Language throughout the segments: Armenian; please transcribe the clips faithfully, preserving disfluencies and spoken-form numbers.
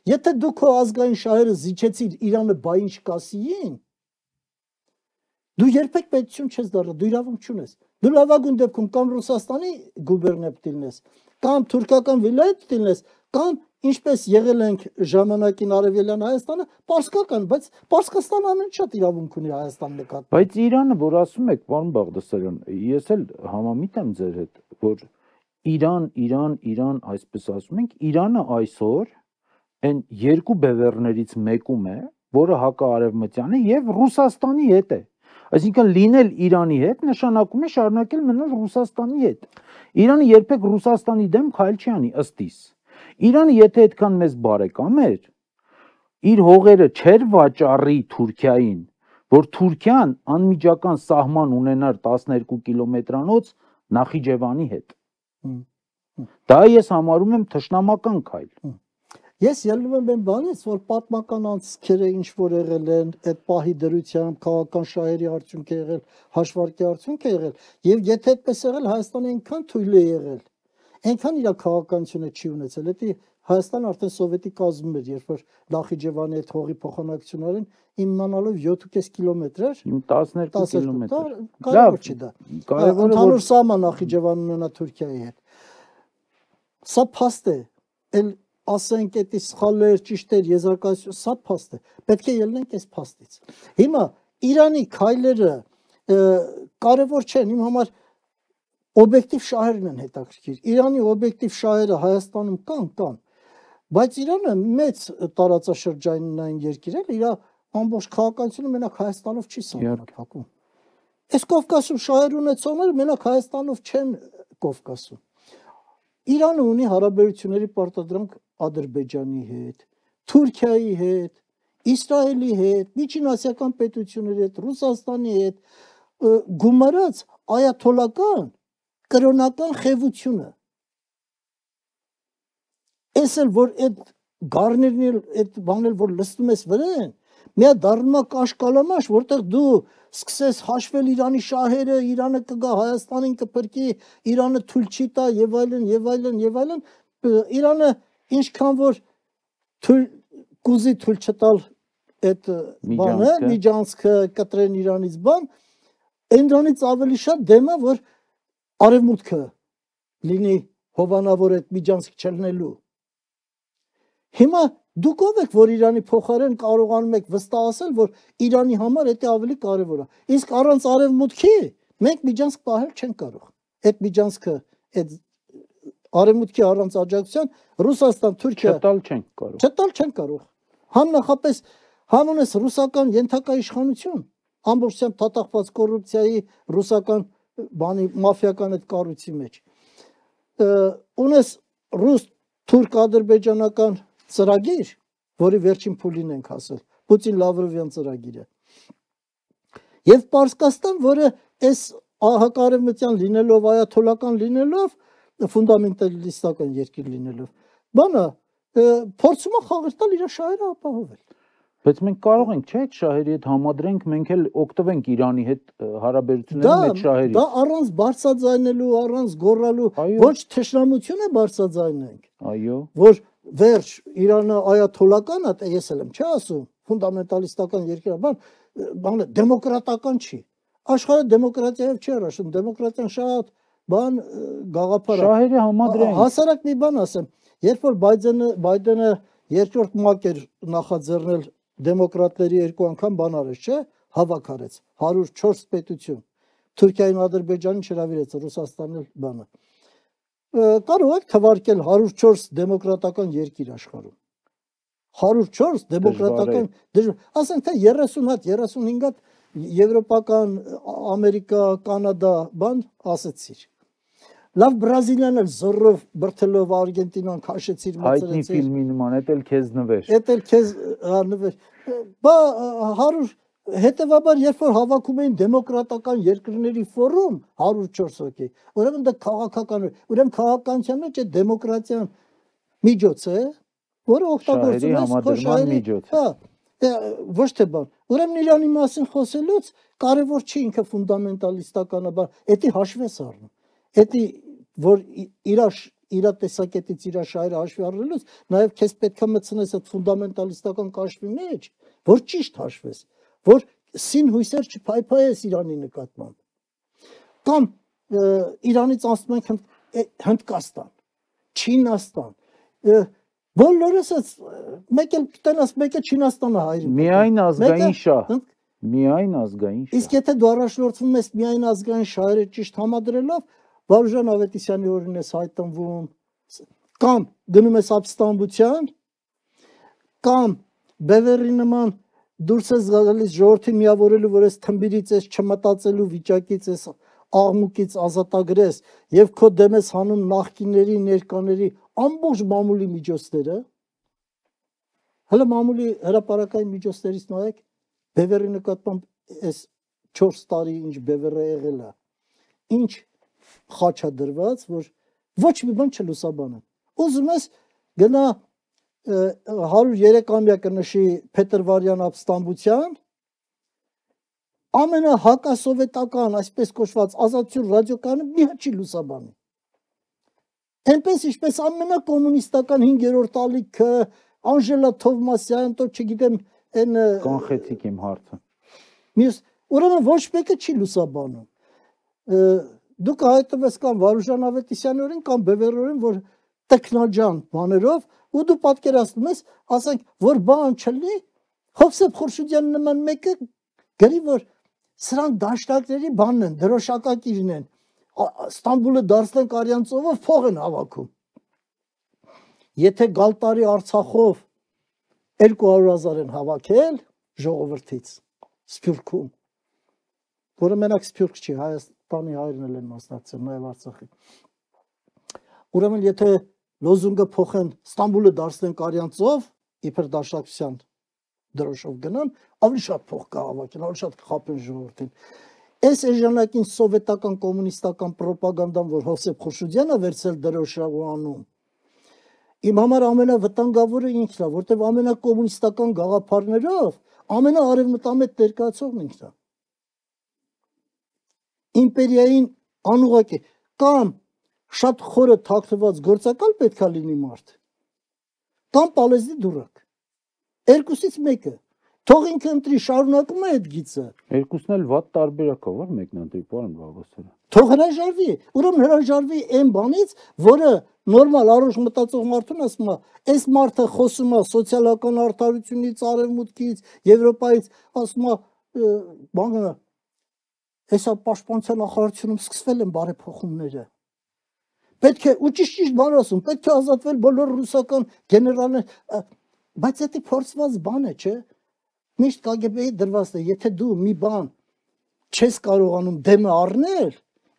Եթե դու քո ազգային շահերը զիջեցիր Իրանը բա ինչ կասիին, դու երբեք պետություն չես դառնա, դու իրավունք չունես։ Դու լավագույն դեպքում կամ Ռուսաստանի գուբերնիա դիլնես, կամ թուրքական վիլայետ դիլնես, կամ ինչպես եղել ենք ժամանակին Արևելյան Հայաստանը, պարսկական, բայց Պարսկաստանը ամեն շատ իրավունք ունի Հայաստան նկատմամբ։ Բայց Իրանը, որ ասում եք, պարոն Բաղդասարյան, ես էլ համամիտ եմ ձեր հետ, որ Իրան, Իրան, Իրան, այսպես ասում ենք, Իրանը այսօր այն երկու բևեռներից մեկում է, որը հակաարևմտյան է եւ Ռուսաստանի հետ է։ Այսինքն լինել Իրանի հետ նշանակում է շարունակել մնալ Ռուսաստանի հետ։ Իրանը երբեք Ռուսաստանի դեմ քայլ չի անի ըստ իս։ Իրանը եթե այդքան մեծ բարեկամ էր, իր հողերը չէր վաճառի Թուրքիային, որ Թուրքիան անմիջական սահման ունենար տասներկու կիլոմետրանոց Նախիջևանի հետ։ Դա ես համարում եմ թշնամական քայլ։ Ես ելնում եմ այն բանից, որ պատմական անցքերը ինչ որ եղել են, այդ պահի դրությամբ քաղաքական շահերի արդյունք է եղել, հաշվարկի արդյունք է եղել, եւ եթե այդպես եղել, Հայաստանը այնքան թույլ է եղել, այնքան իր քաղաքականությունը չի ունեցել, դա Հայաստանը արդեն սովետի կազմում էր, երբ որ Նախիջևանի այդ հողի փոխանակություն արին, իմանալով յոթ կես կիլոմետր էր, տասներկու կիլոմետր։ Կարևոր չի դա։ Կարևորը ընդհանուր սահման Նախիջևանն ունենա Թուրքիայի հետ։ Սա փաստ է, էլ ասենք էդի սխալներ, ճիշտեր, եզրակացություն, սա փաստ է։ Պետք է ելնենք այս փաստից։ Հիմա Իրանի քայլերը կարևոր չեն, իմ համար օբյեկտիվ շահերն են հետաքրքիր։ Իրանի օբյեկտիվ շահերը Հայաստանում կան, կան, բայց Իրանը մեծ տարածաշրջանային երկիր է, իր ամբողջ քաղաքականությունը մենակ Հայաստանով չի սահմանափակում։ Այս Կովկասում շահեր ունեցողները մենակ Հայաստանով չեն Կովկասում։ Իրանը ունի հարաբերությունների պարտադրանք Ադրբեջանի հետ, Թուրքիայի հետ, Իսրայելի հետ, միջինասիական պետությունների հետ, Ռուսաստանի հետ, գումարած այաթոլական կրոնական խևությունը։ Էս էլ որ այդ գառներն այդ բանել որ լստում ես վրան, միա դառնում է կաշկալամաշ, որտեղ դու սկսես հաշվել Իրանի շահերը, Իրանը կգա Հայաստանին կփրկի, Իրանը թույլ չի տա եւ այլն եւ այլն եւ այլն, Իրանը ինչքան որ թույլ կուզի թույլ չտալ այդ բանը, միջանցքը կտրեն Իրանից բան, այնրանից ավելի շատ դեմ է որ արևմուտքը լինի հովանավոր այդ միջանցք չլնելու։ Հիմա դուք ով եք որ Իրանի փոխարեն կարողանում եք վստահ ասել որ Իրանի համար դա ավելի կարևոր է։ Իսկ առանց արևմուտքի մենք միջանցք պահել չենք կարող։ Այդ միջանցքը այդ արևմուտքի առանց աջակցության Ռուսաստան, Թուրքիա չտալ չենք կարող։ Չտալ չենք կարող։ Համ նախապես համ ունես ռուսական ենթակա իշխանություն, ամբողջությամբ թաթախված կոռուպցիայի ռուսական բանի մաֆիական այդ կառույցի մեջ։ Ունես ռուս թուրք ադրբեջանական ծրագիր, որի վերջին փուլին ենք հասել, Պուտին Լավրովյան ծրագիրը։ Եվ Պարսկաստան, որը այս հակարևմտյան լինելով, այաթոլական լինելով, ֆունդամենտալիստական երկիր լինելով, բանը փորձում է խաղեր տալ իր շահերը ապահովել։ Բայց մենք կարող ենք, չէ՞, այդ շահերի հետ համադրենք, մենք էլ օգտվենք Իրանի հետ հարաբերությունների մեջ շահերի։ Դա առանց բարձրաձայնելու, առանց գոռալու, ոչ թշնամություն է բարձրաձայնենք։ Այո։ Որ վերջ Իրանը այաթոլական է, ես էլ եմ չի ասում, ֆունդամենտալիստական երկիր է, բան, բանը դեմոկրատական չի։ Աշխարհը դեմոկրատիայով չի առաջում, դեմոկրատիան շատ բան գաղափար է։ Շահերի համադրենք։ Հասարակ մի բան ասեմ, երբ որ Բայդենը Բայդենը երկրորդ մակ էր նախաձեռնել դեմոկրատների երկու անգամ բան արեց, չէ՞, հավաք արեց, հարյուր չորս պետություն, Թուրքիային, Ադրբեջանին չհրավիրեց, Ռուսաստանն բանը։ Կարող եք թվարկել հարյուր չորս դեմոկրատական երկիր աշխարհում։ հարյուր չորս դեմոկրատական, ասենք թե երեսուն հատ, երեսունհինգ հատ եվրոպական, Ամերիկա, Կանադա, բան ասեցիր։ Լավ Բրազիլիան էլ զորով բրթելով Արգենտինան քաշեցիր մացրեցիր։ Հայտնի ֆիլմի նման, էդ էլ քեզ նվեր։ Էդ էլ քեզ նվեր։ Բա հարյուր հետևաբար երբ որ հավաքում էին դեմոկրատական երկրների ֆորում հարյուր չորս հոգի, ուրեմն դա քաղաքական է, ուրեմն քաղաքականության մեջ է դեմոկրատիան միջոց է, որը օգտագործում է քո շահերի միջոց։ Հա, ոչ թե բան։ Ուրեմն Իրանի մասին խոսելուց կարևոր չի ինքը ֆունդամենտալիստական բան, դա հաշվես առնում։ Էդի որ իր իր տեսակետից իր շահերը հաշվի առնելուց, նաև քեզ պետք է մտցնես այդ ֆունդամենտալիստական կաշվի մեջ, որ ճիշտ հաշվես, որ սին հույսեր չփայփայես Իրանի նկատմամբ։ Կամ Իրանից անցնում ենք Հնդկաստան, Չինաստան, բոլորս մեկ էլ տենաս մեկը Չինաստանը հայրին։ Միայն ազգային շահ։ Միայն ազգային շահ։ Իսկ եթե դու առաջնորդվում ես միայն ազգային շահերը ճիշտ համադրելով, Վարուժան Ավետիսյանի օրին ես հայտնվում, կամ գնում ես ապստամբության, կամ բևեռի նման դուրս ես գալիս ժողովրդին միավորելու, որ ես թմբիրից ես չմտածելու վիճակից ես աղմուկից ազատագրես եւ քո դեմ ես հանում նախկինների, ներկաների ամբողջ մամուլի միջոցները, հələ մամուլի հրապարակային միջոցներից նայեք, բևեռի նկատմամբ այս չորս տարի ինչ բևեռը եղել է, ինչ խաչ է դրված, որ ոչ մի բան չլուսաբանեն։ Ուզում ես գնա հարյուր երեք-ամյակը նշի Փետրվարյան ապստամբության, ամենահակասովետական, այսպես կոչված ազատություն ռադիոկայանը մի հատ չի լուսաբանի։ Այնպես ինչպես ամենակոմունիստական հինգերորդ ալիքը, Անժելա Թովմասյան, то չգիտեմ, այն կանխեցիք իմ հարցը։ Մյուս, ուրեմն ոչ մեկը չի լուսաբանում։ Դուք հայտնվես կամ Վարուժան Ավետիսյանի օրին կամ Բևեռի օրին, որ տեխնոջան բաներով, ու դու պատկերացնում ես, ասենք, որ բան չլինի, Հովսեփ Խորշուդյանի նման մեկը գրի, որ սրանք դաշնակների բանն են, դրոշակակիրն են, Ստամբուլը դարձնենք արյան ծովով փող են հավաքում։ Եթե գալ տարի Արցախով երկու հարյուր հազար են հավաքել ժողովրդից Սփյուռքում, որը մենակ Սփյուռք չի, Հայաստանի հայրն էլ են մասնակցել, նաև Արցախի։ Ուրեմն եթե լոզունգը փոխեն Ստամբուլը դարձնենք արյան ծով, իբր դաշնակցության դրոշով գնան, ավելի շատ փող կհավաքեն, ավելի շատ կխաբեն ժողովրդին։ Այս էժանակին սովետական կոմունիստական պրոպագանդան, որ Հովսեփ Խորշուդյանը վերցել դրոշով անում, իմ համար ամենավտանգավորը ինքն է, որտեղ ամենակոմունիստական գաղափարներով ամենաարևմտամետ ներկայացողն ինքն է։ Իմպերիային անուղակ է, կամ շատ խորը թաքնված գործակալ պետք է լինի մարդ, կամ պալեզի դուրակ։ Երկուսից մեկը։ Թող ինքը ընտրի, շարունակում է այդ գիծը։ Երկուսն էլ վատ տարբերակ է, որ մեկն ընտրի, պարոն Բաղդասարյան։ Թող հրաժարվի, ուրեմն հրաժարվի այն բանից, որը նորմալ առողջ մտածող մարդուն ասում է, այս մարդը խոսում է սոցիալական արդարությունից, արևմուտքից, Եվրոպայից, ասում է, բանը, հեսա պաշտպանության նախարարությունում սկսվել են բարեփոխումները։ Պետք է, ու ճիշտ-ճիշտ բան ասում, պետք է ազատվել բոլոր ռուսական գեներալներ, բայց դա փորձված բան է, չէ՞։ Միշտ Կ Գ Բ-ի դրված է, եթե դու մի բան չես կարողանում դեմը առնել,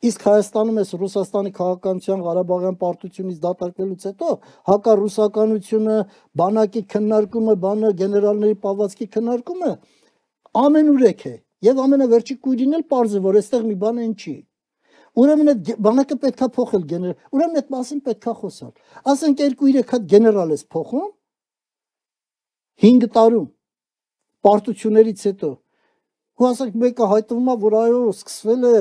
իսկ Հայաստանում ես Ռուսաստանի քաղաքականության Ղարաբաղյան պարտությունից դատարկվելուց հետո հակառուսականությունը, բանակի քննարկումը, բանը գեներալների պահվածքի քննարկումը ամենուրեք է, եւ ամենավերջի կույրին էլ պարզ է, որ այստեղ մի բան են չի։ Ուրեմն այդ բանակը պետքա փոխել գեներալ, ուրեմն այդ մասին պետքա խոսալ։ Ասենք երկու-երեք հատ գեներալ ես փոխում հինգ տարում պարտություններից հետո, ու ասենք մեկը հայտնվում է, որ այո, սկսվել է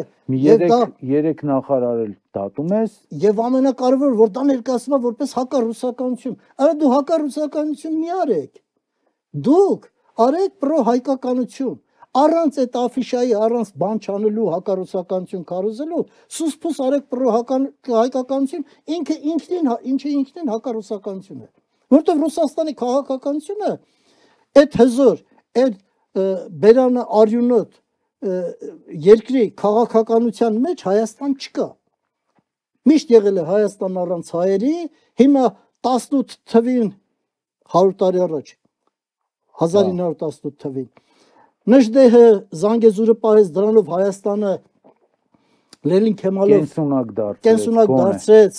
երեք նախարարել դատում ես, եւ ամենակարևորը, որ դա ներկայացվում է որպես հակառուսականություն։ Արա դու հակառուսականություն մի արեք, դուք արեք պրո-հայկականություն, առանց այդ աֆիշայի, առանց բան չանելու հակառուսականություն քարոզելու, սուսփուս արեք պրո-հայկականություն, ինքը ինքնին, ինչը ինքնին հակառուսականություն է, որովհետեւ Ռուսաստանի քաղաքականությունը այդ հզոր այդ բերանը արյունոտ երկրի քաղաքականության մեջ Հայաստան չկա։ Միշտ եղել է Հայաստան առանց հայերի, հիմա տասնութ թվին հարյուր տարի առաջ հազար ինը հարյուր տասնութ թվին Նժդեհը Զանգեզուրը պահեց, դրանով Հայաստանը Լենին Քեմալով կենսունակ դարձրեց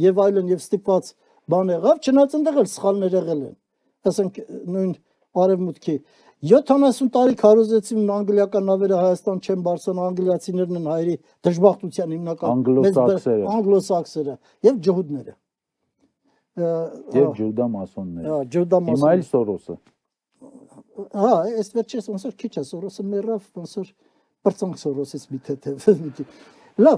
եւ այլն եւ ստիպված բան եղավ, չնայած այնտեղ էլ սխալներ եղել են։ Ասենք նույն արևմուտքի յոթանասուն տարի քարոզեցին անգլիական նավերը Հայաստան չեն բարձրան, անգլիացիներն են հայերի դժբախտության հիմնական անգլոսաքսերը անգլոսաքսերը եւ ջհուդները եւ ջուդամասոնները։ Հա, ջուդամասոնները։ Հիմա էլ Սորոսը։ Հա, այս վերջերս ոնց որ քիչ է Սորոսը մեռավ, ոնց որ բրցանք Սորոսից մի թեթև։ Լավ,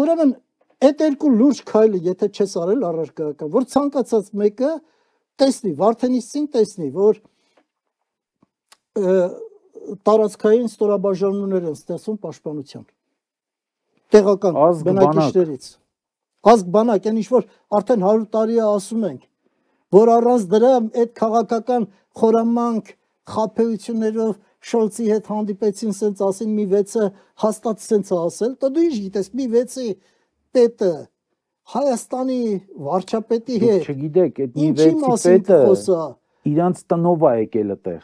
ուրեմն այդ երկու լուրջ քայլը եթե չես արել առարկայական, որ ցանկացած մեկը տեսնի, Վարդենիսցին տեսնի, որ տարածքային ստորաբաժանումներ են ստեղծում պաշտպանության տեղական բնակիչներից ազգ բանակ այն ինչ որ արդեն հարյուր տարի է ասում ենք որ առանց դրա այդ քաղաքական խորամանկ խաբեություններով Շոլցի հետ հանդիպեցին սենց ասին մի վեցը հաստատ սենց է ասել դա դու ինչ գիտես մի վեցի պետը Հայաստանի վարչապետի հետ չգիտեք այդ մի վեցի պետը իրանց տնով է եկել այդտեղ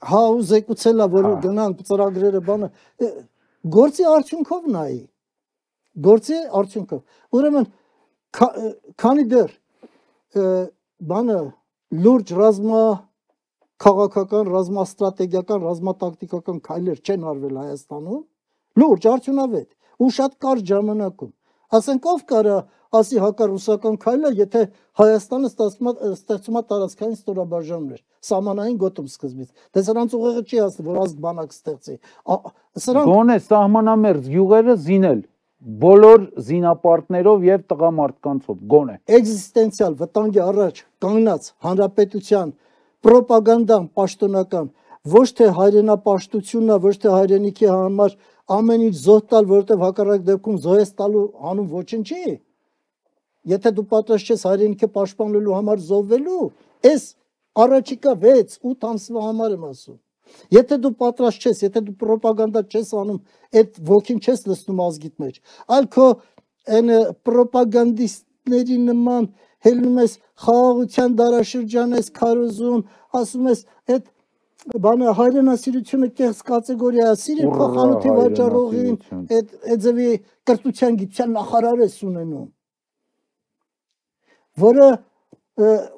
հա ու զեկուցել է որ գնանք ծրագրերը բանը գործի արդյունքով նայի գործի արդյունքով ուրեմն քանի դեռ բանը լուրջ ռազմա քաղաքական ռազմաստրատեգիական ռազմատակտիկական քայլեր չեն արվել Հայաստանում լուրջ արդյունավետ ու շատ կարճ ժամանակում ասենք ով կարա ասի հակառուսական քայլը եթե Հայաստանը ստեղծում է տարածքային ստորաբաժանումներ սահմանային գոտում սկզբից դե սրանց ուղեղը չի ասում որ ազգ բանակ ստեղծի սրանք գոնե սահմանամերձ յուղերը զինել բոլոր զինապարտներով եւ տղամարդկանցով գոնե էգզիստենցիալ վտանգի առաջ կանգնած հանրապետության պրոպագանդան պաշտոնական ոչ թե հայրենապաշտությունն է ոչ թե հայրենիքի համար ամեն ինչ զոհ տալ որովհետեւ հակառակ դեպքում զոհես տալու անուն ոչնչի եթե դու պատրաստ ես հայրենիքը պաշտպանելու համար զոհվելու այս առաջիկա վեց ութ ամսվա համար եմ ասում եթե դու պատրաստ ես եթե դու պրոպագանդա չես անում այդ ոգին չես լցնում ազգիդ մեջ այլ քո այն պրոպագանդիստների նման հելնում ես խաղաղության դարաշրջան ես քարոզում ասում ես այդ բանը հայրենասիրությունը կեղծ կատեգորիա է սիրի փոխանութի վաճառողին այդ էձևի կրթության գիտության նախարար ես ունենում որը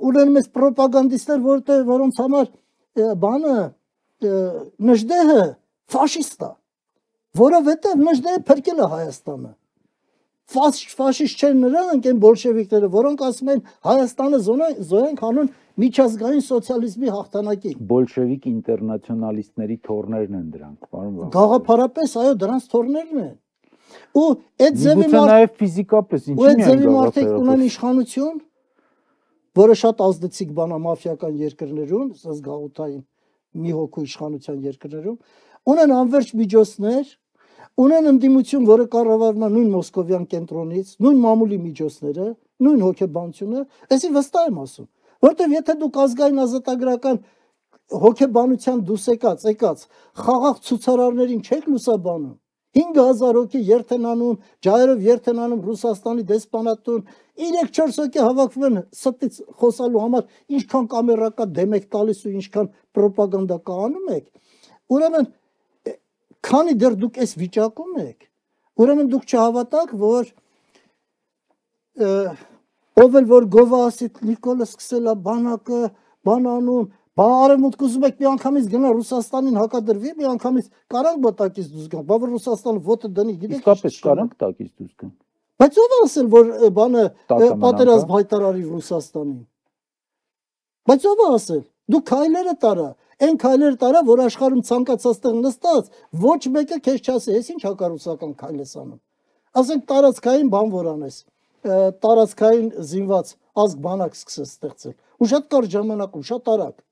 ուրեմն այս պրոպագանդիստներ որտեղ որոնց համար բանը Նժդեհը ֆաշիստ է որովհետև Նժդեհը փրկել է Հայաստանը ֆաշիստ չեն նրանք այն բոլշևիկները որոնք ասում են Հայաստանը զոհենք հանուն միջազգային սոցիալիզմի հաղթանակի բոլշևիկ ինտերնացիոնալիստների թորներն են դրանք պարոն գաղափարապես այո դրանց թորներն են ու այդ ձևի նաև ֆիզիկապես ինչի՞ միայն մարդիկ ունեն իշխանություն որը շատ ազդեցիկ բան է մաֆիական երկրներում զգաղութային մի հոգու իշխանության երկրներում ունեն անverջ միջոցներ ունեն ընդդիմություն որը կառավարվում է նույն մոսկովյան կենտրոնից նույն մամուլի միջոցները նույն հոգեբանությունը այսին վստահ եմ ասում որտեվ եթե դուք ազգային ազատագրական հոգեբանության դուս եկած եկած խաղաղ ցուցարարներին չեք լուսաբանում հինգ հազար հոգի երթենանում ջայրով երթենանում Ռուսաստանի դեսպանատուն երեք չորս հոգի հավաքվում են ստից խոսալու համար ինչքան կամերա կա դեմ եք տալիս ու ինչքան պրոպագանդա կա անում եք ուրեմն քանի դեռ դուք այս վիճակում եք ուրեմն դուք չհավատաք որ ով էլ որ գովասի Նիկոլը սկսել է բանակը բանանում բա արևմուտք ուզում եք մի անգամից գնա Ռուսաստանին հակադրվի մի անգամից կարանք բտակից դուրս գան բա որ Ռուսաստանը ոտը դնի գիտեք իսկապես կարանք տակից դուրս գան բայց ով ասել որ բանը պատերազմ հայտարարի Ռուսաստանին բայց ով ասել դու քայլերը տարա այն քայլերը տարա որ աշխարհում ցանկացած տեղ նստած ոչ մեկը քեզ չասի ես ինչ հակառուսական քայլ ես անում ասենք տարածքային բան որ անես տարածքային զինված ազգ բանակ սկսես ստեղծել ու շատ կարճ ժամանակում շատ արագ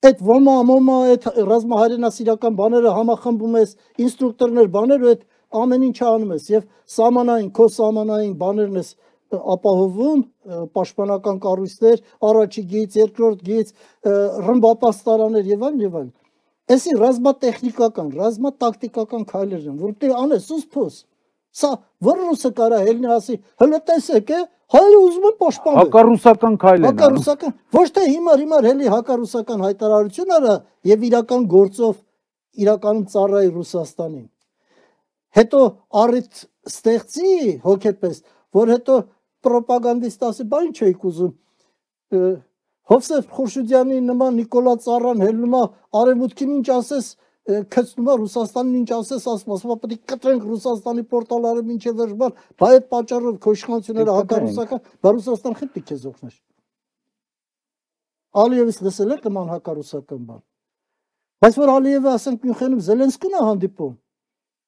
այդ ոմա մոմա այդ ռազմահայրենասիրական բաները համախմբում ես ինստրուկտորներ բաներ ու այդ ամեն ինչ անում ես եւ սահմանային քո սահմանային բաներն ես ապահովում պաշտպանական կառույցներ առաջի գից երկրորդ գից ռմբապաստարաններ եւ այլն եւ այլն այսի ռազմատեխնիկական ռազմատակտիկական քայլեր են որտեղ անես ուսփոս սա որ ռուսը կարա ելնի ասի հələ տեսեք է հայերը ուզում են պաշտպանել հակառուսական քայլ են հակառուսական ոչ թե հիմար հիմար հելի հակառուսական հայտարարություն արա եւ իրական գործով իրականում ծառայի Ռուսաստանին հետո առիթ ստեղծի հոգեպես որ հետո պրոպագանդիստ ասի բա ինչ եք ուզում Հովսեփ Խորշուդյանի նման Նիկոլա Ծառան հելնում է արևմուտքին ինչ ասես քցնում է Ռուսաստանին ինչ ասես ասում ասում պետք է կտրենք Ռուսաստանի պորտալները մինչև վերջբան բա այդ պատճառով քո իշխանությունները հակառուսական բա Ռուսաստան խփի քեզ օգներ Ալիևից լսել եք նման հակառուսական բան բայց որ Ալիևը ասենք Մյունխենում Զելենսկին է հանդիպում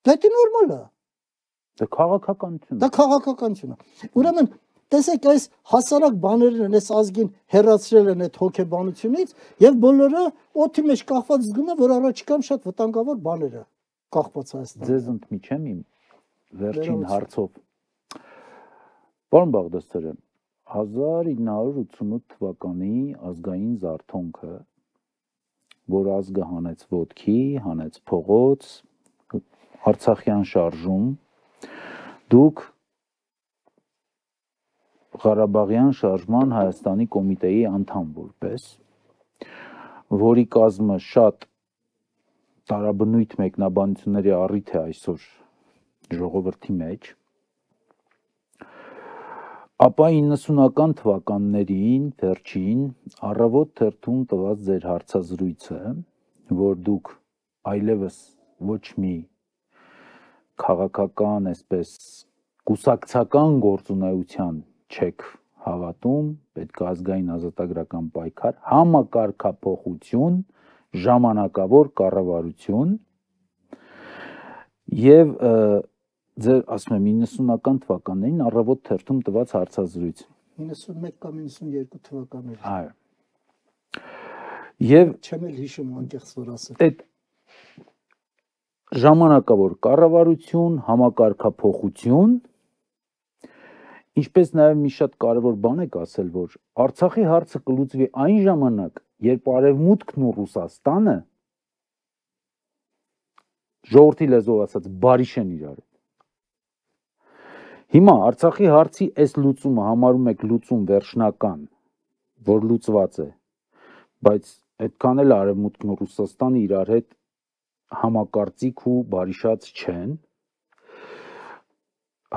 դա նորմալ է Դա քաղաքականություն է։ Դա քաղաքականություն է։ Ուրեմն տեսեք այս հասարակ բաներն են, այս ազգին հեռացրել են այդ հոգեբանությունից եւ բոլորը օդի մեջ կախված զգում են, որ առաջիկան շատ վտանգավոր բաներ է կախված Հայաստանը։ Ձեզ ընդմիջեմ իմ վերջին հարցով։ Պարոն Բաղդասարյան, հազար ինը հարյուր ութսունութ թվականի ազգային զարթոնքը, որ ազգը հանեց ոտքի, հանեց փողոց, Արցախյան շարժում, դուք Ղարաբաղյան շարժման Հայաստանի կոմիտեի անդամ որպես, որի կազմը շատ տարաբնույթ մեկնաբանությունների առիթ է այսօր ժողովրդի մեջ, ապա իննսունական թվականներին վերջին առավոտ թերթում տված ձեր հարցազրույցը, որ դուք այլևս ոչ մի քաղաքական, այսպես կուսակցական գործունեության չեք հավատում, պետք է ազգային ազատագրական պայքար, համակարգափոխություն, ժամանակավոր կառավարություն եւ ձեր ասում եմ իննսունական թվականներին առավոտ թերթում տված հարցազրույց իննսունմեկ կամ իննսունյոթ թվականներին այո եւ չեմ էլ հիշում անկեղծ որ ասեմ այդ ժամանակավոր կառավարություն, համակարգափոխություն, ինչպես նաև մի շատ կարևոր բան եք ասել, որ Արցախի հարցը կլուծվի այն ժամանակ, երբ Արևմուտքն ու Ռուսաստանը ժողովրդի լեզվով ասած բարիշեն իրար։ Հիմա Արցախի հարցի այս լուծումը համարում եք լուծում վերջնական, որ լուծված է, բայց այդքան էլ Արևմուտքն ու Ռուսաստանը իրար հետ համակարծիք ու բարիշած չեն։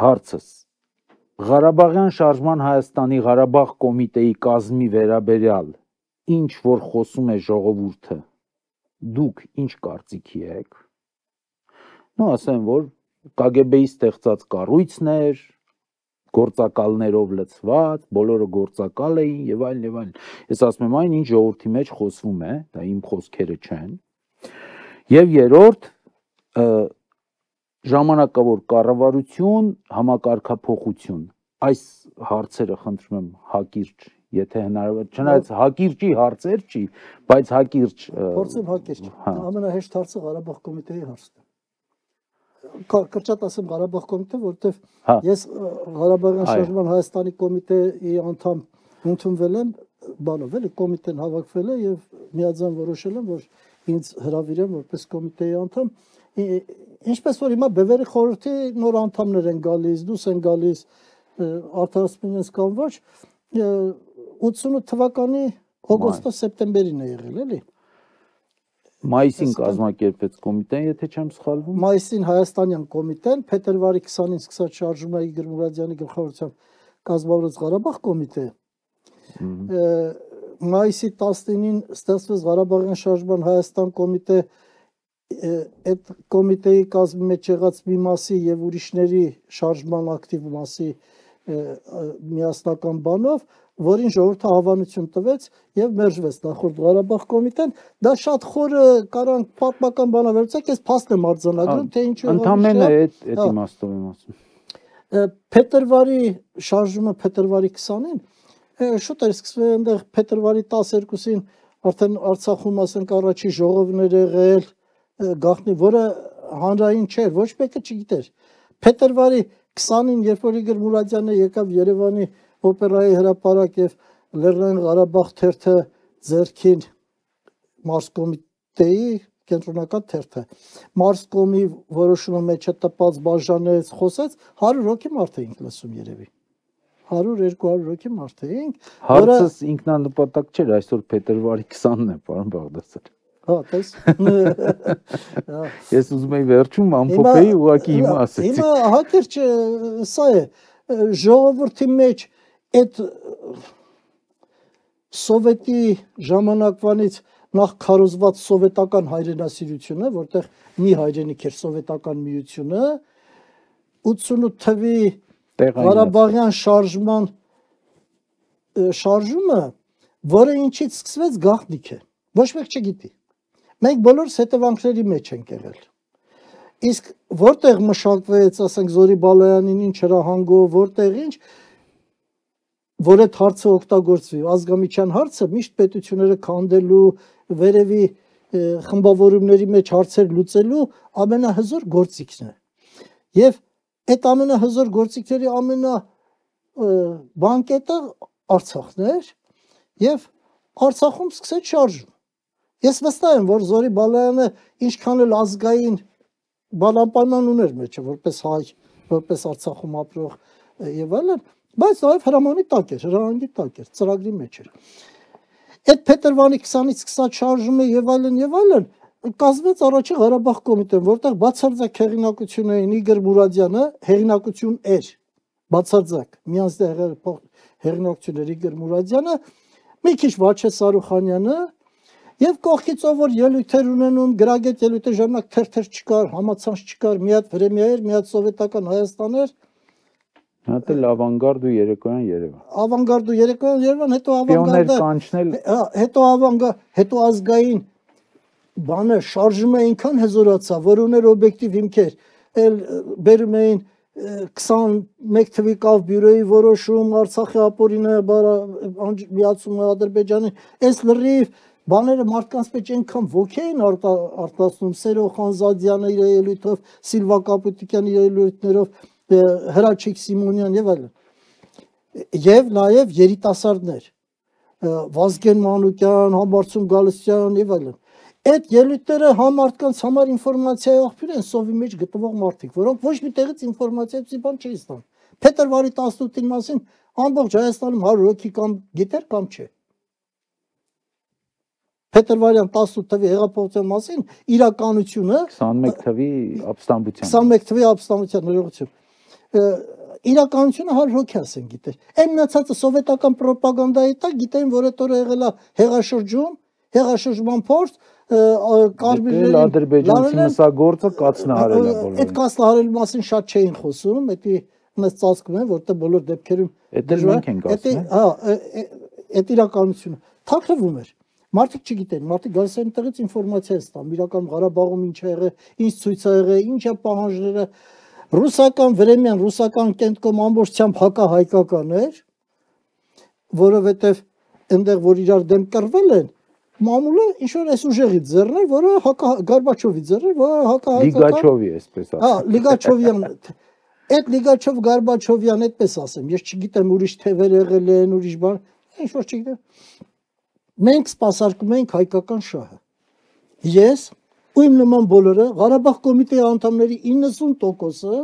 Հարցս Ղարաբաղյան շարժման Հայաստանի Ղարաբաղ կոմիտեի կազմի վերաբերյալ ինչ որ խոսում է ժողովուրդը, դուք ինչ կարծիքի եք։ Նո ասեմ, որ Կ Գ B-ի ստեղծած կառույցն էր, գործակալներով լցված, բոլորը գործակալ էին եւ այլն եւ այլն։ Ես ասում եմ այն ինչ ժողովրդի մեջ խոսվում է, դա իմ խոսքերը չեն։ Եվ երրորդ ժամանակավոր կառավարություն, համակարգափոխություն։ Այս հարցերը խնդրում եմ հակիրճ, եթե հնարավոր, չնայած հակիրճի հարցեր չի, բայց հակիրճ փորձեմ հակիրճ։ Ամենահեշտ հարցը Ղարաբաղ կոմիտեի հարցն է։ Կրճատ ասեմ Ղարաբաղ կոմիտե, որովհետև ես Ղարաբաղյան շարժման Հայաստանի կոմիտեի անդամ ընդունվել եմ, բանով էլի կոմիտեն հավաքվել է եւ միաձայն որոշել եմ, որ ինձ հրավիրեն որպես կոմիտեի անդամ։ Ինչպես որ հիմա Բևերի խորհրդի նոր անդամներ են գալիս, դուրս են գալիս, արդարացնում են կամ ոչ, ութսունութ թվականի օգոստոս-սեպտեմբերին է եղել, էլի։ Մայիսին կազմակերպեց կոմիտեն, եթե չեմ սխալվում։ Մայիսին Հայաստանյան կոմիտեն, փետրվարի քսանին սկսած շարժումը Իգոր Մուրադյանի գլխավորությամբ կազմավորեց Ղարաբաղ կոմիտե։ Մայիսի տասնինին ստեղծվեց Ղարաբաղյան շարժման Հայաստան կոմիտե, այդ կոմիտեի կազմի մեջ եղած մի մասի եւ ուրիշների շարժման ակտիվ մասի միասնական բանով, որին ժողովուրդը հավանություն տվեց եւ մերժվեց նախորդ Ղարաբաղ կոմիտեն, դա շատ խորը կարանք պատմական բանավերցեք, ես փաստ եմ արձանագրում, թե ինչու ընդամենը այդ այդ իմաստով եմ ասում։ Փետրվարի շարժումը փետրվարի քսանին շուտ էր սկսվել այնտեղ փետրվարի տասներկուսին արդեն Արցախում ասենք առաջի ժողովներ եղել գաղտնի, որը հանրային չէր, ոչ մեկը չգիտեր։ Փետրվարի քսանին, երբ որ Իգոր Մուրադյանը եկավ Երևանի օպերայի հրապարակ եւ Լեռնային Ղարաբաղ թերթը ձեռքին Մարսկոմիտեի կենտրոնական թերթը Մարսկոմի որոշումը մեջը տպած բաժանեց, խոսեց, հարյուր հոգի մարդ էինք լսում երևի։ հարյուր երկու հարյուր հոգի մարդ էինք։ Հարցս ինքնանպատակ չէր, այսօր փետրվարի քսանն է, պարոն Բաղդասարյան։ Հա, տես։ Ես ուզում եի վերջում ամփոփեի, ուղղակի հիմա ասեցի։ Հիմա հակիրճ սա է, ժողովրդի մեջ այդ սովետի ժամանակվանից նախ քարոզված սովետական հայրենասիրությունը, որտեղ մի հայրենիք էր սովետական միությունը, ութսունութ թվի Ղարաբաղյան շարժման շարժումը, որը ինչից սկսվեց գաղտնիք է, ոչ մեկ չգիտի։ Մենք բոլորս հետևանքների մեջ ենք եղել։ Իսկ որտեղ մշակվեց, ասենք Զորի Բալայանին ինչ հրահանգով, որտեղ ինչ, որ այդ հարցը օգտագործվի, ազգամիչյան հարցը միշտ պետությունները քանդելու, վերևի խմբավորումների մեջ հարցեր լուծելու ամենահզոր գործիքն է։ Եվ այդ ամենահզոր գործիքների ամենա բանկետը Արցախն էր, եւ Արցախում սկսեց շարժում։ Ես վստահ եմ, որ Զորի Բալայանը ինչքան էլ ազգային բանապայման ուներ մեջը, որպես հայ, որպես Արցախում ապրող եւ այլն, բայց նաեւ հրամանի տակ էր, հրահանգի տակ էր, ծրագրի մեջ էր։ Այդ փետրվարի քսանից սկսած շարժումը եւ այլն եւ այլն կազմեց առաջի Ղարաբաղ կոմիտեն, որտեղ բացարձակ հեղինակություն էին Իգոր Մուրադյանը, հեղինակություն էր, բացարձակ, միանձնյա հեղինակություն էր Իգոր Մուրադյանը, մի քիչ Վաչե Սարուխանյանը եւ կողքից ով որ ելույթեր ունենում, գրագետ ելույթեր ժամանակ թերթեր չկար, համացանց չկար, մի հատ Վրեմիա էր, մի հատ սովետական Հայաստան էր։ Հատ էլ ավանգարդ ու երեկոյան Երևան։ Ավանգարդ ու երեկոյան Երևան, հետո ավանգարդը կանչնել, հետո ավանգա, հետո ազգային բանը շարժումը այնքան հզորացավ, որ ուներ օբյեկտիվ հիմքեր, էլ բերում էին քսանմեկ թվի կավ բյուրոյի որոշում, Արցախի ապօրինը միացումը Ադրբեջանի, այս լրիվ բաները մարդկանց մեջ այնքան ոգի են արտացնում, Սերո Խանզադյանը իր ելույթով, Սիլվա Կապուտիկյանի ելույթներով, Հրաչիկ Սիմոնյան եւ այլն։ Եվ նաեւ երիտասարդներ, Վազգեն Մանուկյան, Համբարձում Գալստյան եւ այլն։ Այդ ելույթները համ մարդկանց համար ինֆորմացիայի աղբյուր են, սովի մեջ գտնվող մարդիկ, որոնք ոչ մի տեղից ինֆորմացիայի բան չէին ստանում։ Փետրվարի տասնութին մասին ամբողջ Հայաստանում հարյուր հոգի կամ գիտեր կամ չէ։ Փետրվարյան տասնութ թվի հեղափոխության մասին իրականությունը քսանմեկ թվի ապստամբության քսանմեկ թվի ապստամբության ներողություն իրականությունը հարյուր հոգի ասեն գիտեր։ Այն մնացածը սովետական ռոպագանդայի տակ գիտեն, որ այդ օրը եղել է հեղաշրջում, հեղաշրջման փորձ, կարմիրներին ադրբեջանցի մսագործը կացնահարել է բոլորին։ Այդ կացնահարելու մասին շատ չէին խոսում, դա մեզ ծածկում են, որտեղ բոլոր դեպքերում դա մենք ենք ասում։ Հա, այդ իրականությունը թաքնվում էր։ Մարդիկ չգիտեն, մարդիկ գալիս են տեղից ինֆորմացիա ստանում, իրական Ղարաբաղում ինչ է եղել, ինչ ցույց է եղել, ինչ է պահանջները։ Ռուսական Վրեմյան, ռուսական կենտկոմ ամբողջությամբ հակահայկական էր, որովհետև այնտեղ որ իրար դեմ կռվել են, մամուլը ինչ որ այս ուժեղի ձեռներ, որը հակա Գորբաչովի ձեռներ, որը հակահայկական Լիգաչովի այսպես ասեմ։ Հա, Լիգաչովյան։ Այդ Լիգաչով Գորբաչովյան այդպես ասեմ, ես չգիտեմ ուրիշ թևեր եղել են, ուրիշ բան, ինչ որ չգիտեմ։ Մենք սպասարկում ենք հայկական շահը։ Ես ու իմ նման բոլորը Ղարաբաղ կոմիտեի անդամների իննսուն տոկոսը,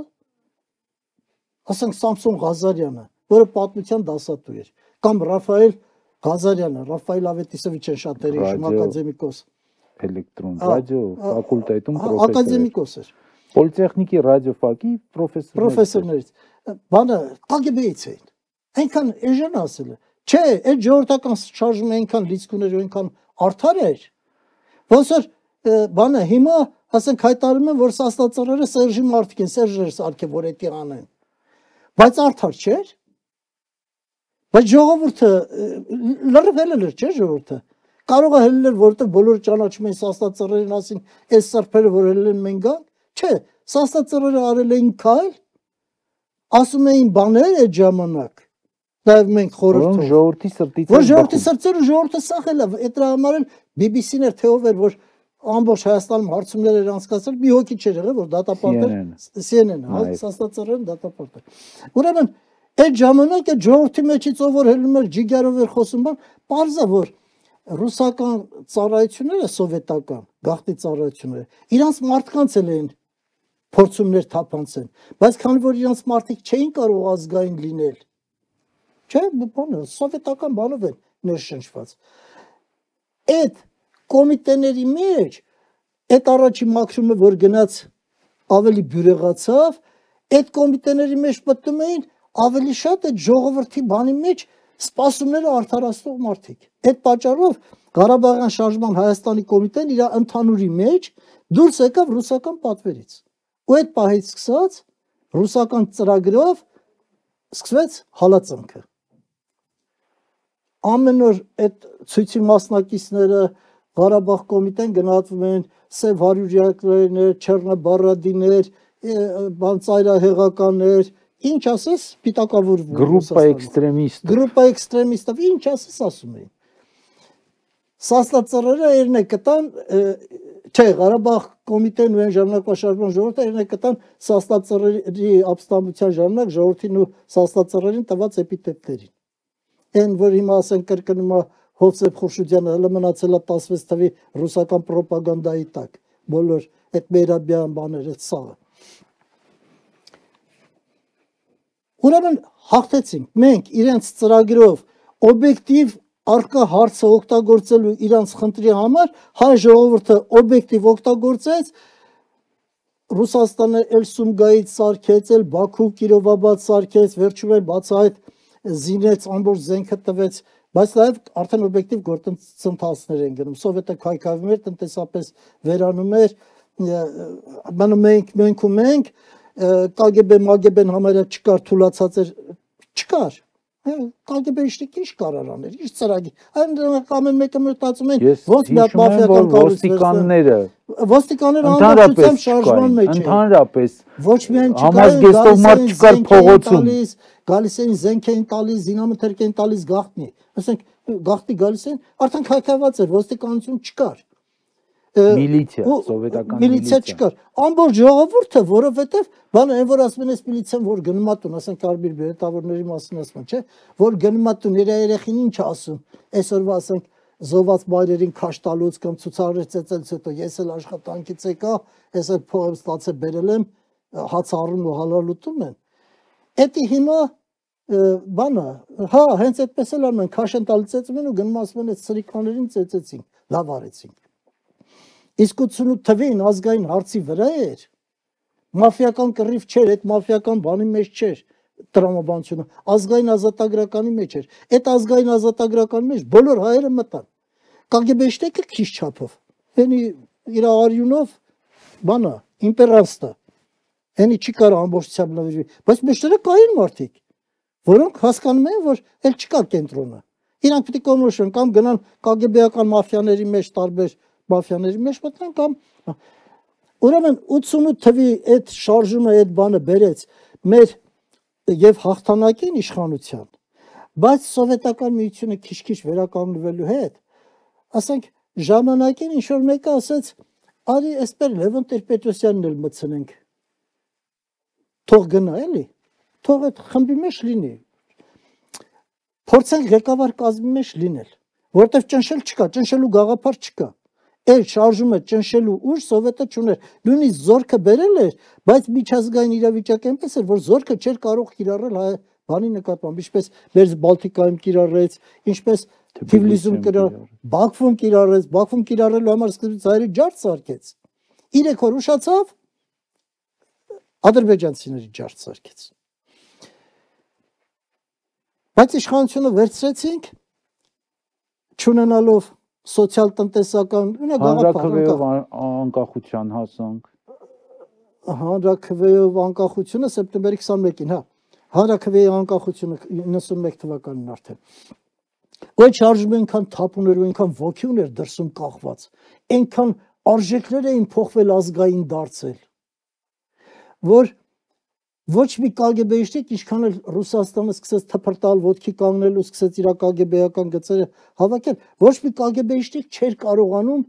ասենք Սամսոն Ղազարյանը, որը պատմության դասատու էր, կամ Ռաֆայել Ղազարյանը, Ռաֆայել Ավետիսովիչը շատ էր իշխում ակադեմիկոս։ Էլեկտրոն ռադիո ֆակուլտետում պրոֆեսոր։ Ակադեմիկոս էր։ Պոլիտեխնիկի ռադիոֆակի պրոֆեսոր։ Պրոֆեսորներից։ Բանը կագեբեից էին։ Այնքան էժան ասել է։ Չէ, այդ ժողովրդական շարժումը այնքան լիցքուներ ու այնքան արդար էր, ոնց որ բանը հիմա ասենք հայտարարում են, որ սաստածռերը Սերժի մարդիկ են, Սերժեր սարքե, որ էդի անեն։ Բայց արդար չէր։ Բայց ժողովուրդը լրիվ հելել էր, չէ՞ ժողովուրդը։ Կարող է հելել, որովհետև բոլորը ճանաչում են սաստածռերին, ասին, այս սրբերը որ հելել են մենք գանք, չէ, սաստածռերը արել էին քայլ, ասում էին բաներ այդ ժամանակ։ Նաև մենք խորհրդով ժողովրդի սրտից որ ժողովրդի սրտերը ժողովուրդը սախել է, այդ դրա համար էլ բի բի սին էր թե ով էր, որ ամբողջ Հայաստանում հարցումներ էր անցկացրել, մի հոգի չէր եղել, որ դատապարտել Սի Էն Էն, հա, սաստածռերն դատապարտել։ Ուրեմն այդ ժամանակ այդ ժողովրդի մեջից ով որ հելնում էր ջիգարով էր խոսում, բան, պարզ է որ ռուսական ծառայությունները սովետական, գաղտնի ծառայությունները, իրանց մարդկանց էլ էին փորձումներ թափանցեն, բայց քանի որ իրանց մարդիկ չէին կարող ազգային լինել, չէ, բանը սովետական բանով են ներշնչված։ Այդ կոմիտեների մեջ այդ առաջի մաքրումը որ գնաց ավելի բյուրեղացավ, այդ կոմիտեների մեջ մտնում էին ավելի շատ այդ ժողովրդի բանի մեջ սպասումները արդարացնող մարդիկ։ Այդ պատճառով Ղարաբաղյան շարժման Հայաստանի կոմիտեն իր ընդհանուրի մեջ դուրս եկավ ռուսական պատվերից։ Ու այդ պահից սկսած ռուսական ծրագրով սկսվեց հալածանքը։ Ամեն օր այդ ցույցի մասնակիցները Ղարաբաղ կոմիտեն գնահատվում են սև հարյուրյակներ, չեռնաբարադիներ, բան ծայրահեղականներ, ինչ ասես, պիտակավորվում։ Գրուպա էքստրեմիստ։ Գրուպա էքստրեմիստով, ինչ ասես ասում էին։ Սաստածռերը երնե կտան, չէ, Ղարաբաղ կոմիտեն ու այն ժամանակվա շարժման ժողովուրդը երնե կտան սաստածռերի ապստամբության ժամանակ ժողովրդին ու սաստածռերին տված էպիտետներին։ Այն, որ հիմա ասեն կրկնում է Հովսեփ Խուրշուդյանը, հələ մնացել է տասնվեց թվի ռուսական պրոպագանդայի տակ, բոլոր այդ մերաբյան բաները, այդ սաղը։ Ուրեմն հաղթեցինք, մենք իրենց ծրագրով օբյեկտիվ արկա հարցը օգտագործելու իրանց խնդրի համար հայ ժողովուրդը օբյեկտիվ օգտագործեց, Ռուսաստանը էլ Սումգայից սարքեց, էլ Բաքու Կիրովաբադ սարքեց, վերջում էլ բացահայտ զինեց, ամբողջ զենքը տվեց, բայց նաև արդեն օբյեկտիվ գործընթացներ են գնում, Սովետը քայքայվում էր, տնտեսապես վերանում էր, մնում ենք, մենք ու մենք, կագեբե, մագեբեն համարյա չկար, թուլացած էր, չկար, կագեբեիշնիկ ինչ կարար աներ, ինչ ծրագիր, այն ամեն մեկը մտածում են, ոնց մի հատ մաֆիական ոստիկանները, ոստիկանները անվճռությամբ շարժման մեջ էին, ընդհանրապես, ոչ միայն համազգեստով մարդ չկար փողոցում, գալիս էին զենք էին տալիս, զինամթերք էին տալիս գաղտնի, ասենք գաղտնի գալիս էին, արդեն քայքայված էր, ոստիկանություն չկար, միլիցիա, սովետական միլիցիա չկար, ամբողջ ժողովուրդը, որովհետև բանը այն որ ասում են այս միլիցիան, որ գնում ատուն, ասենք Կարմիր բերետավորների մասին ասում են, չէ, որ գնում ատուն, իր երեխին ինչ ասում, այսօրվա ասենք զոհված մայրերին քաշ տալուց կամ ցուցարարից ծեծելուց հետո ես էլ աշխատանքից եկա, ես էլ փող եմ ստացել բերել եմ, հաց առնում ու հալալ ուտում են։ Էդի հիմա բանը, հա, հենց այդպես էլ անում են, քաշ են տալի ծեծում են ու գնում ասում են այդ սրիկաներին ծեծեցինք, լավ արեցինք։ Իսկ ութսունութ թվին ազգային հարցի վրա էր, մաֆիական կռիվ չէր, այդ մաֆիական բանի մեջ չէր տրամաբանությունը, ազգային ազատագրականի մեջ էր, այդ ազգային ազատագրականի մեջ բոլոր հայերը մտան, կագեբեշտեկը քիչ չափով, հենի իր արյունով բանա, իմպերանստա, հենի չի կարա ամբողջությամբ նվիրվի, բայց մեջտերը կային մարդիկ, որոնք հասկանում են, որ էլ չկա կենտրոնը, իրանք պիտի կոնոշեն կամ գնան կագեբեական մաֆիաների մեջ տարբեր մաֆիաների մեջ մտնեն կամ ուրեմն ութսունութ թվի այդ շարժումը այդ բանը բերեց մեր եւ հաղթանակին իշխանության, բայց սովետական միությունը քիչ-քիչ վերականգնվելու հետ, ասենք ժամանակին ինչ որ մեկը ասեց, արի այսպես Լևոն Տեր-Պետրոսյանն էլ մտցնենք, թող գնա էլի, թող այդ խմբի մեջ լինի, փորձենք ղեկավար կազմի մեջ լինել, որտեվ ճնշել չկա, ճնշելու գաղափար չկա, Էլ շարժումը ճնշելու ուժ սովետը չուներ, նույնիսկ զորքը բերել էր, բայց միջազգային իրավիճակը այնպես էր, որ զորքը չէր կարող կիրառել հայ բանի նկատմամբ, ինչպես մեր Բալտիկայում կիրառեց, ինչպես Թիֆլիսում կիրառեց, Բաքվում կիրառեց, Բաքվում կիրառելու համար սկզբից հայերի ջարդ սարքեց, երեք օր ուշացավ, ադրբեջանցիների ջարդ սարքեց, բայց իշխանությունը վերցրեցինք, չունենալով սոցիալ-տնտեսական հանրաքվեով անկախության հասանք, հանրաքվեով անկախությունը սեպտեմբերի քսանմեկին, հա, հանրաքվեի անկախությունը իննսունմեկ թվականին արդեն, ու այդ շարժումը այնքան թափ ուներ ու այնքան ոգի ուներ դրսում կախված, այնքան արժեքներ էին փոխվել ազգային դարձել, որ ոչ մի կագեբեիշնիկ ինչքան էլ Ռուսաստանը սկսեց թփրտալ, ոտքի կանգնել ու սկսեց իր կագեբեական գծերը հավաքել, ոչ մի կագեբեիշնիկ չէր կարողանում,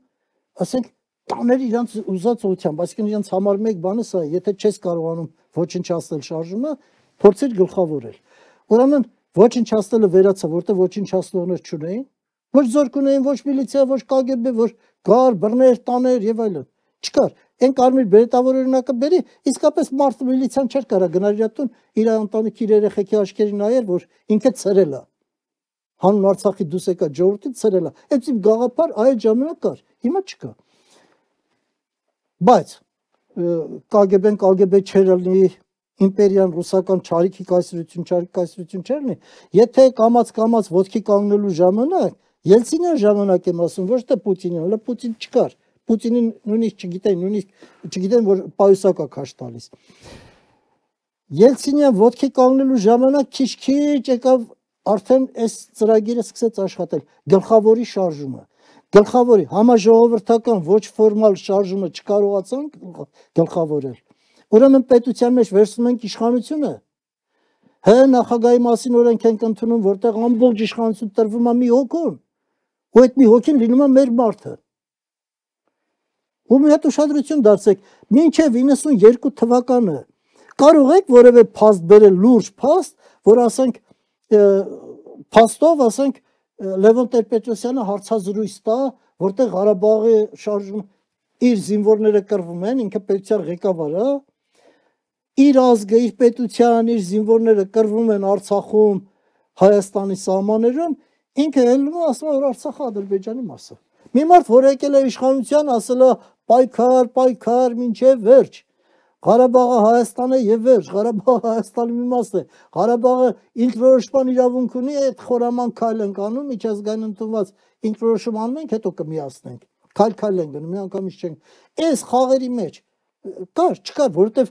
ասենք, տանել իրանց ուզած ուղղությամբ, այսինքն իրանց համար մեկ բանը սա է, եթե չես կարողանում ոչնչացնել շարժումը, փորձիր գլխավորել։ Ուրեմն ոչնչացնելը վերացավ, որտեղ ոչնչացնողներ չունեին, ոչ զորք ունեին, ոչ միլիցիա, ոչ կագեբե, ոչ գար, բռներ, տաներ եւ այլն։ Չկար։ Այն Կարմիր բերետավոր օրինակը բերի, իսկապես մարդը միլիցիան չէր կարա գնալ իր տուն, իր ընտանիքի իր երեխեքի աչքերին նայեր, որ ինքը ցրել է։ Հանուն Արցախի դուս եկա ժողովրդին ցրել է։ Այդպես գաղափար այդ ժամանակ կար, հիմա չկա։ Բայց կագեբեն կագեբե չէր լինի, իմպերիան ռուսական չարիքի կայսրություն, չարիք կայսրություն չէր լինի։ Եթե կամած-կամած ոտքի կանգնելու ժամանակ, Ելցինյան ժամանակ եմ ասում, ոչ թե Պուտինին, հələ Պուտին չկար։ Պուտինին նույնիսկ չգիտեն, նույնիսկ չգիտեն, որ պայուսակա քաշ տալիս։ Ելցինյան ոտքի կանգնելու ժամանակ քիչ-քիչ եկավ արդեն այս ծրագիրը սկսեց աշխատել, գլխավորի շարժումը։ Գլխավորի համաժողովրդական ոչ ֆորմալ շարժումը չկարողացան գլխավորել։ Ուրեմն պետության մեջ վերցնում ենք իշխանությունը։ Հե նախագահի մասին օրենք ենք ընդունում, որտեղ ամբողջ իշխանություն տրվում է մի հոգուն, ու այդ մի հոգին լինում է մեր մարդը։ Ու մի հատ ուշադրություն դարձեք, մինչև իննսունյոթ թվականը կարող եք որևէ փաստ բերել, լուրջ փաստ, որ ասենք փաստով, ասենք Լևոն Տեր-Պետրոսյանը հարցազրույց տա, որտեղ Ղարաբաղի շարժում իր զինվորները կռվում են, ինքը պետության ղեկավար է, իր ազգը, իր պետության, իր զինվորները կռվում են Արցախում, Հայաստանի սահմաններում, ինքը ելնում է ասում է, որ Արցախը Ադրբեջանի մաս է։ Մի մարդ, որ եկել է իշխանության, ասել է պայքար, պայքար, մինչև վերջ։ Ղարաբաղը Հայաստան է եւ վերջ, Ղարաբաղը Հայաստանի մի մաս է։ Ղարաբաղը ինքնորոշման իրավունք ունի, այդ խորաման քայլ ենք անում, միջազգային ընդունված ինքնորոշում անում ենք, հետո կմիացնենք։ Քայլ-քայլ ենք գնում, միանգամից չենք։ Այս խաղերի մեջ կար, չկար, որովհետեւ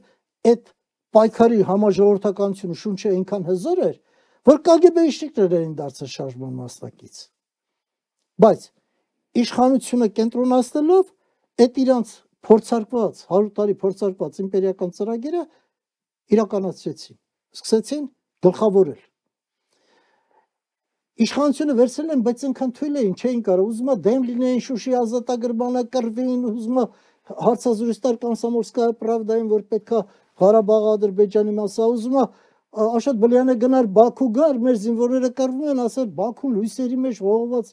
այդ պայքարի համաժողովրդականությունը շունչը այնքան հզոր էր, որ կագեբեիստներ էին դարձել շարժման մասնակից։ Բայց իշխանությունը կենտրոնացնելով այդ իրանց փորձարկված հարյուր տարի փորձարկված իմպերիական ծրագիրը իրականացրեցին, սկսեցին գլխավորել։ Իշխանությունը վերցրել են, բայց այնքան թույլ էին, չէին կարող, ուզում է դեմ լինեին Շուշի ազատագրմանը, կռվին, ուզում է հարցազրույց տալ Կոմսոմոլսկայա պրավդային, որ պետքա Ղարաբաղը Ադրբեջանի մաս է, ուզում է Աշոտ Բլյանը գնար Բաքու գար, մեր զինվորները կռվում են, ասել Բաքուն լույսերի մեջ ողողված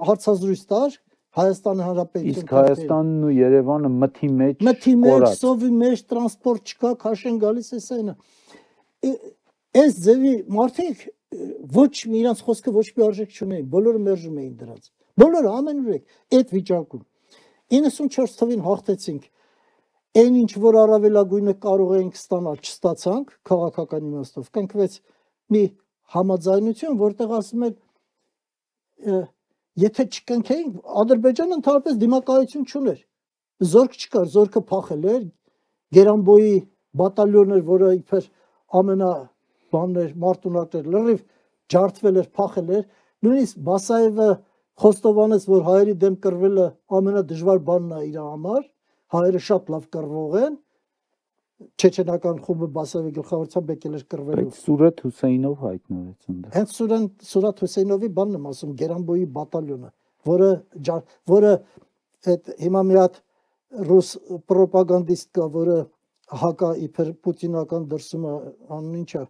հարցազրույց տար Հայաստանի Հանրապետություն։ Իսկ Հայաստանն ու Երևանը մթի մեջ մթի մեջ, սովի մեջ, տրանսպորտ չկա, քաշեն գալիս է սայնը։ Այս ձևի մարդիկ ոչ մի իրանց խոսքը ոչ մի արժեք չունեին, բոլորը մերժում էին դրանց։ Բոլորը ամենուրեք այդ վիճակում։ իննսունչորս թվին հաղթեցինք։ Այն ինչ որ առավելագույնը կարող էինք ստանալ, չստացանք քաղաքական իմաստով։ Կնքվեց մի համաձայնություն, որտեղ ասում են եթե չկնքեին, Ադրբեջանը ընդհանրապես դիմակայություն չուներ։ Զորք չկար, զորքը փախել էր, Գերանբոյի բատալյոնն էր, որը իբր ամենա բաններ, մարտունակներ լրիվ ջարդվել էր, փախել էր։ Նույնիսկ Բասաևը խոստովանեց, որ հայերի դեմ կռվելը ամենադժվար բանն է իր համար, հայերը շատ լավ կռվող են, չեչենական խումբը Բասաևի գլխավորությամբ եկել էր կռվելու։ Բայց Սուրեթ Հուսեյնով հայտնվեց այնտեղ։ Հենց Սուրեթ Հուսեյնովի բանն եմ ասում, Գերանբոյի բատալյոնը, որը որը այդ հիմա մի հատ ռուս պրոպագանդիստ կա, որը հակա իբր պուտինական դրսումը անուն ինչա,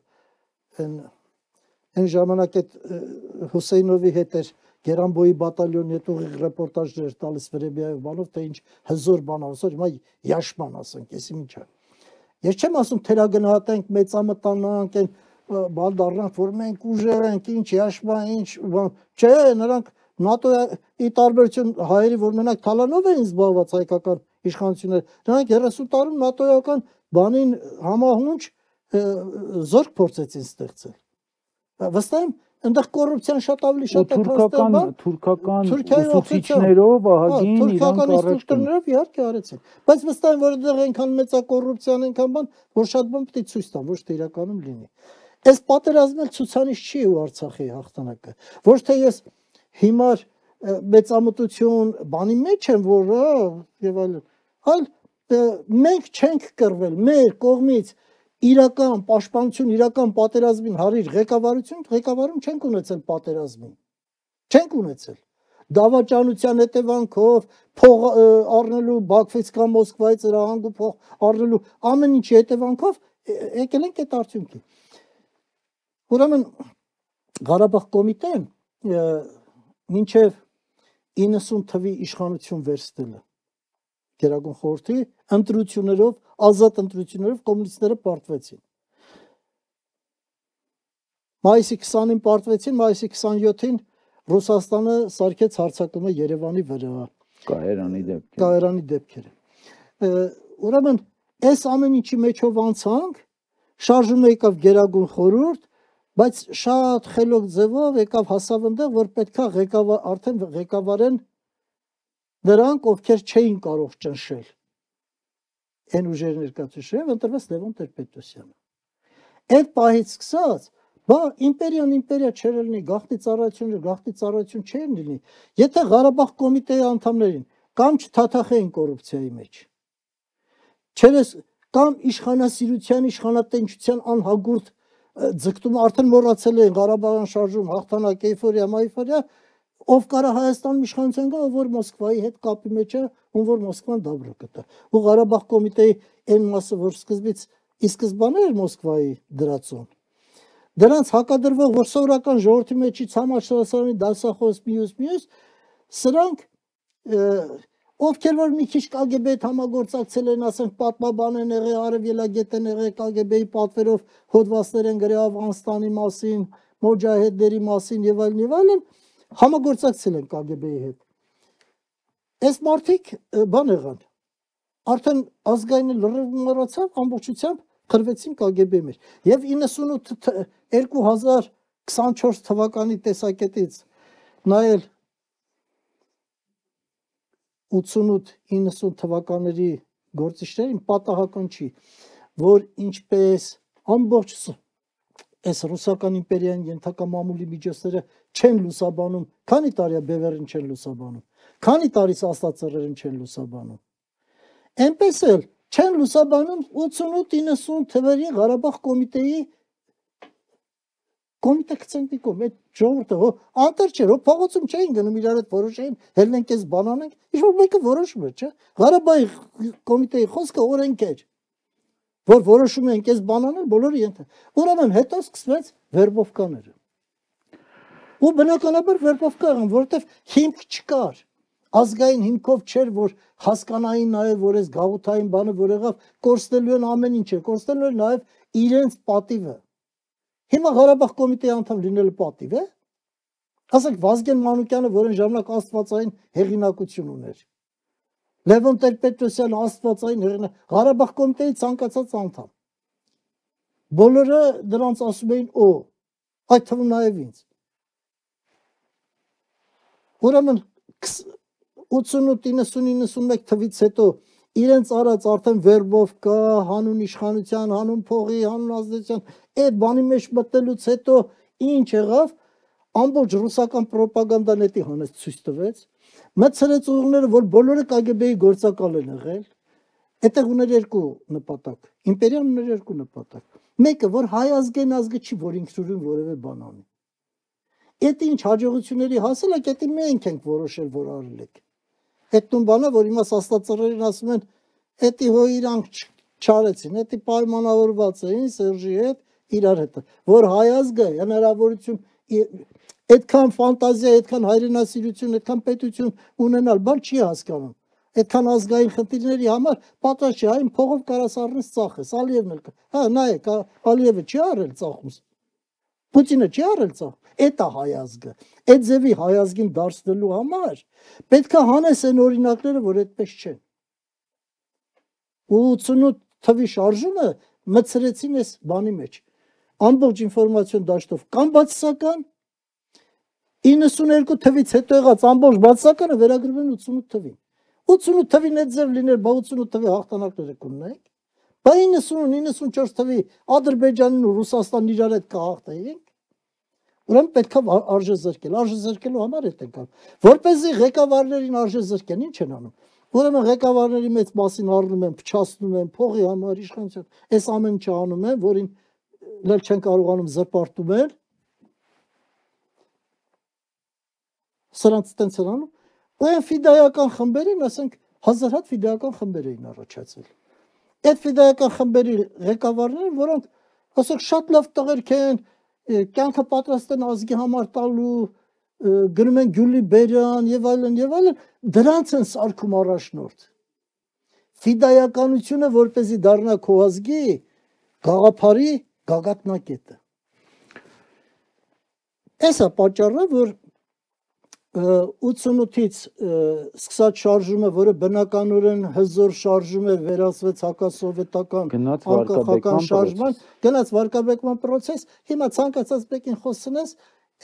այն այն ժամանակ այդ Հուսեյնովի հետ էր Գերանբոյի բատալյոնի հետ ուղիղ ռեպորտաժներ տալիս Վրեբիայով բանով, թե ինչ հզոր բան ասոր, հիմա Յաշման ասենք, էսի ինչա։ Ես չեմ ասում թերագնահատենք, մեծամտանանք, այն բան դառնանք, որ մենք ուժեղ ենք, ինչ Յաշման, ինչ բան։ Չէ, նրանք ՆԱՏՕ-ի տարբերություն հայերի, որ մենակ թալանով էին զբաղված հայկական իշխանությունները, նրանք երեսուն տարում ՆԱՏՕ-ական բանին համահունչ զորք փորձեցին ստեղծել։ Վստահ եմ, այնտեղ կոռուպցիան շատ ավելի շատ է թուրքական թուրքական ուսուցիչներով ահագին իրանք առողջներով իհարկե արեցին, բայց վստահ եմ, որ այնտեղ այնքան մեծ է կոռուպցիան, այնքան բան, որ շատ բան պետք է ցույց տան, ոչ թե իրականում լինի։ Այս պատերազմը ցուցանիշ չի ու Արցախի հաղթանակը, ոչ թե ես հիմար մեծամտություն բանի մեջ եմ, որ եւ այլն, այլ մենք չենք կռվել, մեր կողմից իրական պաշտպանություն, իրական պատերազմին հարիր ղեկավարություն, ղեկավարում չենք ունեցել պատերազմին։ Չենք ունեցել։ Դավաճանության հետևանքով, փող առնելու Բաքվից կամ Մոսկվայից հրահանգ ու փող առնելու ամեն ինչի հետևանքով եկել ենք այդ արդյունքի։ Ուրեմն Ղարաբաղ կոմիտեն մինչև իննսուն թվի իշխանություն վերցնելը Գերագույն խորհրդի ընտրություններով, ազատ ընտրություններով կոմունիստները պարտվեցին։ Մայիսի քսանին պարտվեցին, մայիսի քսանյոթին Ռուսաստանը սարքեց հարձակումը Երևանի վրա։ Կայարանի դեպքերը։ Կայարանի դեպքերը։ Ուրեմն այս ամեն ինչի մեջով անցանք, շարժումը եկավ Գերագույն խորհուրդ, բայց շատ խելոք ձևով եկավ հասավ այնտեղ, որ պետքա ղեկավար արդեն ղեկավարեն նրանք, ովքեր չէին կարող ճնշել այն ուժերի ներկայացուցիչները, ընտրվեց Լևոն Տեր-Պետրոսյանը։ Այդ պահից սկսած Բա իմպերիան իմպերիա չէր լինի, գաղտնի ծառայությունը գաղտնի ծառայություն չէր լինի, եթե Ղարաբաղ կոմիտեի անդամներին կամ չթաթախեին կոռուպցիայի մեջ, չերես կամ իշխանասիրության, իշխանատենչության անհագուրդ ձգտումը արդեն մոռացել էին Ղարաբաղյան շարժում, հաղթանակ, էյֆորիա, մայֆորիա, ով կարա Հայաստանում իշխանության գա, ով որ Մոսկվայի հետ կապի մեջ է, ում որ Մոսկվան դաբրը կտա։ Ու Ղարաբաղ կոմիտեի այն մասը, որ սկզբից ի սկզբանե էր Մոսկվայի դրածուն, դրանց հակադրվող, որ սովորական ժողովրդի մեջից համաշխարհային դասախոս մյուս մյուս, սրանք ովքեր որ մի քիչ Կ Գ B-ի հետ համագործակցել են, ասենք պատմաբան են եղել, արևելագետ են եղել, Կ Գ B-ի պատվերով հոդվածներ են գրել Աֆղանստանի մասին, մոջահեդների մասին եւ այլն եւ այլն, համագործակցել են Կ Գ B-ի հետ։ Այս մարդիկ բան եղան, արդեն ազգային լրիվ մոռացավ, ամբողջությամբ խրվեցին Կ Գ B-ի մեջ։ Եվ երկու հազար քսանչորս թվականի տեսակետից նայել ութսունութ իննսուն թվականների գործիչներին պատահական չի, որ ինչպես ամբողջ այս ռուսական իմպերիան ենթակա մամուլի միջոցները չեն լուսաբանում, քանի տարի է բևեռին չեն լուսաբանում, քանի տարի աստածերերին չեն լուսաբանում, այնպես էլ չեն լուսաբանում ութսունութ իննսուն թվերի Ղարաբաղ կոմիտեի կոմիտե կցենտիկում, այդ ժողովուրդը, հո անտեր չէր, հո փողոցում չէին գնում իրար հետ որոշեին, հելնենք ես բանանենք, ինչ-որ մեկը որոշում է, չէ։ Ղարաբաղի կոմիտեի խոսքը օրենք էր, որ որոշում են կես բանանել, բոլորը ենթ։ Ուրեմն հետո սկսվեց վերբովկաները։ Ու բնականաբար վերբովկա եղան, որովհետև հիմք չկար, ազգային հիմքով չէր, որ հասկանային նաև, որ այս գաղութային բանը, որ եղավ, կորցնելու են ամեն ինչը, կորցնելու են նաև իրենց պատիվը։ Հիմա Ղարաբաղ կոմիտեի անդամ լինելը պատիվ է։ Ասենք Վազգեն Մանուկյանը, որ այն ժամանակ աստվածային հեղինակություն ուներ։ Լևոն Տեր-Պետրոսյանը աստվածային հեղինակ, Ղարաբաղ կոմիտեի ցանկացած անդամ։ Բոլորը դրանց ասում էին օ, այդ թվում նաև ինձ։ Ուրեմն ութսունութ իննսուն իննսունմեկ թվից հետո իրենց արած արդեն վերբով կա, հանուն իշխանության, հանուն փողի, հանուն ազդեցության, այդ բանի մեջ մտնելուց հետո ինչ եղավ, ամբողջ ռուսական պրոպագանդան էդի հանեց ցույց տվեց, մտցրեց ուղիները, որ բոլորը Կ Գ B-ի գործակալ են եղել, այդտեղ ուներ երկու նպատակ, իմպերիան ուներ երկու նպատակ, մեկը, որ հայ ազգային ազգը չի, որ ինքնուրույն որևէ բան անի, այդ ինչ հաջողությունների հասել եք, դա մենք ենք որոշել, որ արել եք։ Այդ տուն բանը, որ հիմա աստվածածռերին ասում են, էդի հո իրանք չարեցին, էդի պայմանավորված էին Սերժի հետ, իրար հետ, որ հայ ազգը հնարավորություն, այդքան ֆանտազիա, այդքան հայրենասիրություն, այդքան պետություն ունենալ, բան չի հասկանում, այդքան ազգային խնդիրների համար պատրաստ չի, այն փողով կարաս առնես ծախես, Ալիևն էլ կա, հա, նայեք, Ալիևը չի արել ծախումս, Պուտինը չի արել ծախ, էդ է հայ ազգը, այդ ձևի հայ ազգին դարձնելու համար պետք է հանես այն օրինակները, որ այդպես չեն։ ութսունութ թվի շարժումը մտցրեցին այս բանի մեջ, ամբողջ ինֆորմացիոն դաշտով, կամ բացասական, իննսունհինգ թվից հետո եղած ամբողջ բացասականը վերագրվում ութսունութ թվին։ ութսունութ թվին այդ ձև լիներ, բա ութսունութ թվի հաղթանակները կունենայինք, բա իննսուն իննսունչորս թվի Ադրբեջանն ու Ռուսաստանն իրար հետ կհաղթեինք։ Ուրեմն պետք է արժե զրկել, արժե զրկելու համար է տենկալ, որպեսզի ղեկավարներին արժե զրկեն, ինչ են անում։ Ուրեմն ղեկավարների մեծ մասին առնում են, փչացնում են, փողի համար, իշխանության, այս ամեն ինչը անում են, որին լել չեն կարողանում զրպարտում են։ Սրանց տենց են անում։ Ու այն ֆիդայական խմբերին, ասենք, հազար հատ ֆիդայական խմբեր էին առաջացել։ Այդ ֆիդայական խմբերի ղեկավարները, որոնք, ասենք, շատ լավ տղերք են, կյանքը պատրաստ են ազգի համար տալու, գնում են Գյուլի Բերյան եւ այլն եւ այլն, դրանց են սարքում առաջնորդ։ Ֆիդայականությունը որպեսզի դառնա քո ազգի գաղափարի գագաթնակետը։ Էսա պատճառը, որ ութսունութից սկսած շարժումը, որը բնականորեն հզոր շարժում էր, վերածվեց հակասովետական անկախական շարժման, գնաց վարկաբեկման պրոցես, հիմա ցանկացած մեկին խոսնես,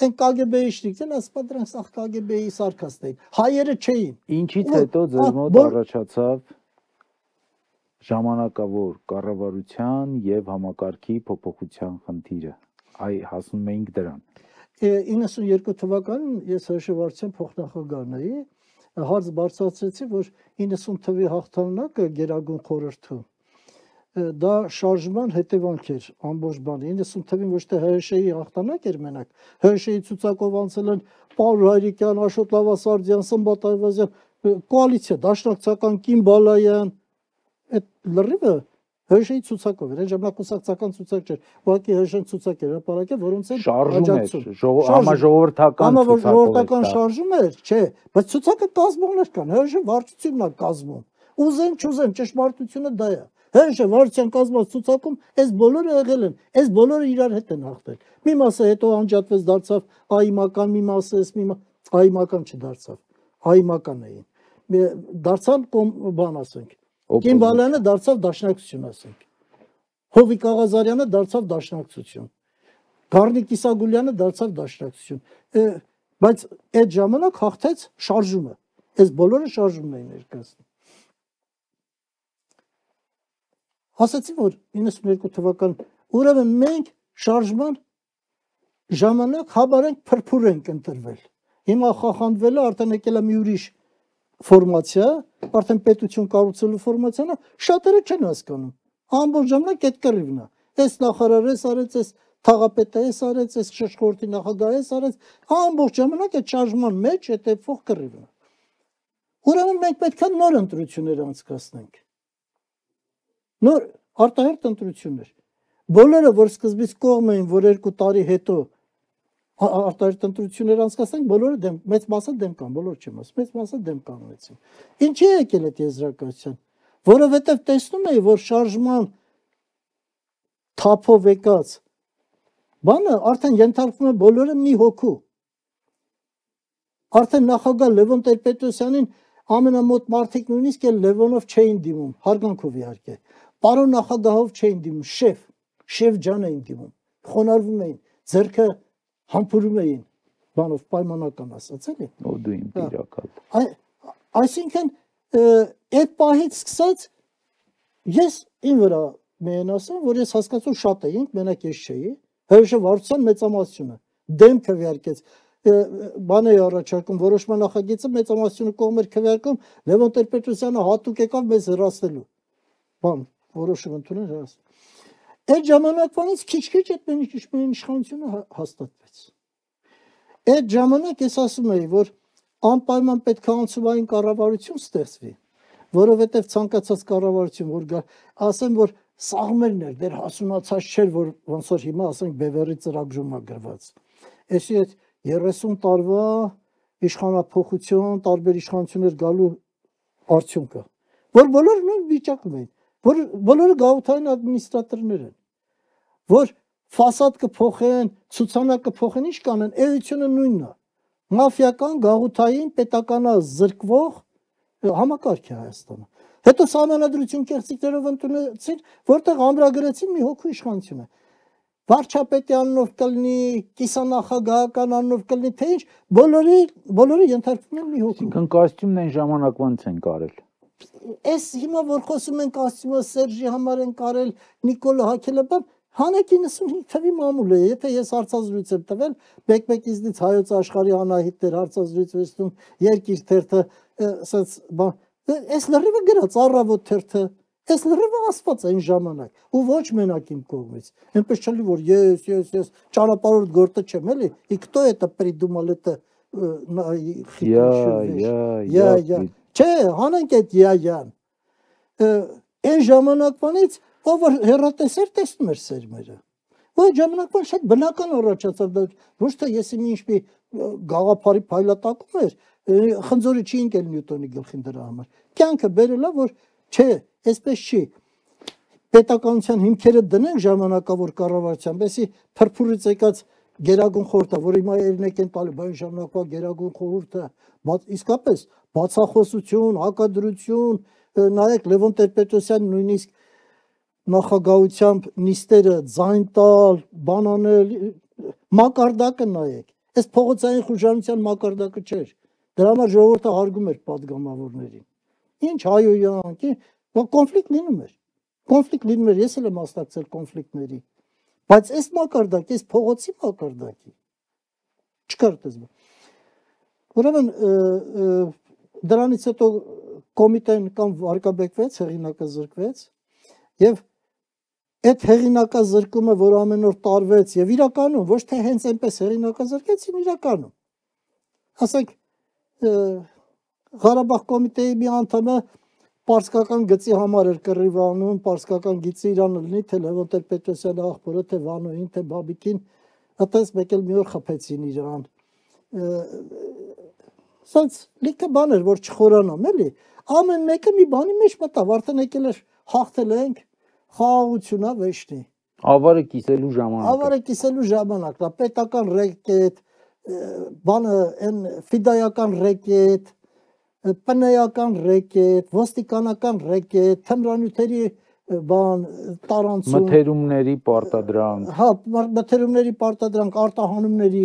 այն Կ Գ B-ի շնիկն ասpa դրանք սա Կ Գ B-ի սարկաստ էին, հայերը չէին։ Ինչից հետո ձեր մոտ առաջացավ ժամանակավոր կառավարության եւ համակարգի փոփոխության խնդիրը։ այ հասնում էինք դրան։ իննսունյոթ թվականին ես հաշվարկության փոխնախագահն էի, հարց բարձրացրեցի, որ իննսուն թվականի հաղթանակը Գերագույն խորհրդում դա շարժման հետևանք էր ամբողջ բանը։ իննսուն թվականին ոչ թե ՀՀՇ-ի հաղթանակ էր մենակ, ՀՀՇ-ի ցուցակով անցել են Պաուլ Հայրիկյան, Աշոտ Լավասարդյան, Սմբատ Այվազյան, կոալիցիա, Դաշնակցական, Կին Բալայան, այդ լրիվը ՀՀՇ-ի ցուցակով էր, այն ժամանակ կուսակցական ցուցակ չէր, ուղղակի ՀՀՇ-ն ցուցակ էր հրապարակել, որոնց են աջակցում, համաժողովրդական համաժողովրդական շարժում էր, չէ, բայց ցուցակը կազմողներ կան, ՀՀՇ վարչությունն է կազմում, ուզեն չուզեն, ճշմարտությունը դա է, ՀՀՇ վարչության կազմած ցուցակում այս բոլորը եղել են, այս բոլորը իրար հետ են հաղթել, մի մասը հետո անջատվեց, դարձավ ԱԻՄ-ական, մի մասը էս մի ԱԻՄ-ական չդարձավ, ԱԻՄ-ական էին, դարձան բան ասենք, Կին Բալայանը դարձավ Դաշնակցություն, ասենք։ Հովիկ Աղազարյանը դարձավ Դաշնակցություն։ Գառնիկ Իսագուլյանը դարձավ Դաշնակցություն։ Բայց այդ ժամանակ հաղթեց շարժումը։ Այս բոլորը շարժումն էին ներկայացնում։ Ասացի, որ իննսունյոթ թվականին, ուրեմն մենք շարժման ժամանակ հաբար ենք փրփուր ենք ընտրվել։ Հիմա խախանվել է, արդեն եկել է մի ուրիշ ֆորմացիա, արդեն պետություն կառուցելու ֆորմացիան է, շատերը չեն հասկանում։ Ամբողջ ժամանակ այդ կռիվն է։ Այս նախարարը էս արեց, այս թաղապետը էս արեց, այս շրջխորհրդի նախագահը էս արեց, ամբողջ ժամանակ այդ շարժման մեջ այդ էփող կռիվն է։ Ուրեմն մենք պետք է նոր ընտրություններ անցկացնենք։ Նոր արտահերթ ընտրություններ։ Բոլորը, որ սկզբից կողմ էին, որ երկու տարի հետո արտահերթ ընտրություններ անցկացնենք, բոլորը դեմ, մեծ մասը դեմ կան, բոլոր չեմ ասում, մեծ մասը դեմ կանգնեցին։ Ինչի է եկել այդ եզրակացության, որովհետև տեսնում էի, որ շարժման թափով եկած բանը արդեն ենթարկվում է բոլորը մի հոգու։ Արդեն նախագահ Լևոն Տեր-Պետրոսյանին ամենամոտ մարդիկ նույնիսկ էլ Լևոնով չէին դիմում, հարգանքով իհարկե, պարոն նախագահով չէին դիմում, շեֆ, շեֆ ջան էին դիմում, խոնարհվում էին, ձեռքը համբուրում էին, բանով պայմանական ասած էլի։ Ու դու իմ տիրակալ։ Այսինքն այդ պահից սկսած ես ին վրա մեն ասեմ, որ ես հասկացում շատ էինք, մենակ ես չէի, ՀՀՇ վարչության մեծամասնությունը դեմ քվեարկեց, բան է առաջարկում, որոշման նախագիծը մեծամասնությունը կողմ էր քվեարկում, Լևոն Տեր-Պետրոսյանը հատուկ եկավ մեզ հրացնելու։ Բան, որոշում ընդունել հրաց։ Այդ ժամանակվանից քիչ-քիչ այդ իշխանությունը հաստատվեց։ Այդ ժամանակ ես ասում էի, որ անպայման պետք է անցումային կառավարություն ստեղծվի, որովհետև ցանկացած կառավարություն, որ գա, ասեմ, որ սաղմերն էր, դեռ հասունացած չէր, որ ոնց որ հիմա ասենք Բևերի ծրագրում է գրված։ Էսի այդ երեսուն տարվա իշխանափոխություն, տարբեր իշխանություններ գալու արդյունքը, որ բոլորը նույն վիճակում են, որ բոլորը գաղութային ադմինիստրատորներ են, որ ֆասադ կփոխեն, ցուցանակ կփոխեն, ինչ կանեն, էությունը նույնն է։ Մաֆիական, գաղութային, պետականազրկվող համակարգ է Հայաստանը։ Հետո սահմանադրություն կեղծիքներով ընդունեցին, որտեղ ամրագրեցին մի հոգու իշխանությունը։ Վարչապետի անունով կլինի, կիսանախագահական անունով կլինի, թե ինչ, բոլորի բոլորը ենթարկվում են մի հոգու։ Այսինքն կոստյումն այն ժամանակվանից են կարել։ Այս հիմա որ խոսում են կոստյումը Սերժի համար են կարել, Նիկոլը հակելը, բան հանեք իննսունհինգ թվի մամուլ է, եթե ես հարցազրույց եմ տվել, բեկ-բեկիզնից հայոց աշխարհի անահիտներ հարցազրույց վերցնում, երկիր թերթը, ասած, բան, այս լրիվը գրած առավոտ թերթը, այս լրիվը ասված այն ժամանակ, ու ոչ մենակ իմ կողմից, այնպես չլի, որ ես, ես, ես, ճանապարհորդ գործը չեմ, էլի, и кто это придумал это, я, я, չէ, հանենք այդ я-յան, այն ժամանակվանից ով որ հեռատեսեր տեսնում էր սերմերը։ Այդ ժամանակվան շատ բնական առաջացավ, ոչ թե ես իմ ինչ-մի գաղափարի փայլատակում էր, խնձորի չի ընկել Նյուտոնի գլխին դրա համար։ Կյանքը բերել է, որ չէ, այսպես չի։ Պետականության հիմքերը դնենք ժամանակավոր կառավարության, բեսի փրփուրից եկած Գերագույն խորհուրդը, որ հիմա երնեք են տալի, բայց ժամանակվա Գերագույն խորհուրդը, իսկապես բացախոսություն, հակադրություն, նայեք Լևոն Տեր-Պետրոսյանը նույնիսկ նախագահությամբ նիստերը ձայն տալ, բանանել, մակարդակը նայեք, այս փողոցային խուժանության մակարդակը չէր, դրա համար ժողովուրդը հարգում էր պատգամավորներին, ինչ հայոյանք, կոնֆլիկտ լինում էր, կոնֆլիկտ լինում էր, ես էլ եմ մասնակցել կոնֆլիկտների, Բայց այս մակարդակի, այս փողոցի մակարդակի չկար դες։ Ուրեմն դրանից հետո կոմիտեն կամ վարկաբեկվեց, հեղինակազրկվեց եւ այդ հեղինակազրկումը, որ ամեն օր տարվեց եւ իրականում ոչ թե հենց այնպես հեղինակազրկեցին, իրականում ասենք Ղարաբաղ կոմիտեի մի անդամը պարսկական գծի համար էր կռիվանում, պարսկական գիծը իրան լինի, թե Լևոն Տեր-Պետրոսյանի աղբորը, թե Վանոյին, թե Բաբիկին, այդպես մեկ էլ մի օր խփեցին իրան։ Սենց լիքը բան էր, որ չխորանամ, էլի։ Ամեն մեկը մի բանի մեջ մտավ, արդեն եկել էր հաղթել ենք, խաղաղությունա վեշնի։ Ավարը կիսելու ժամանակ։ Ավարը կիսելու ժամանակն է, պետական ռեկետ, բանը այն ֆիդայական ռեկետ, պնեյական ռեկետ, ոստիկանական ռեկետ, թմրանյութերի բան տարանցում, մթերումների պարտադրանք։ Հա, մթերումների պարտադրանք, արտահանումների,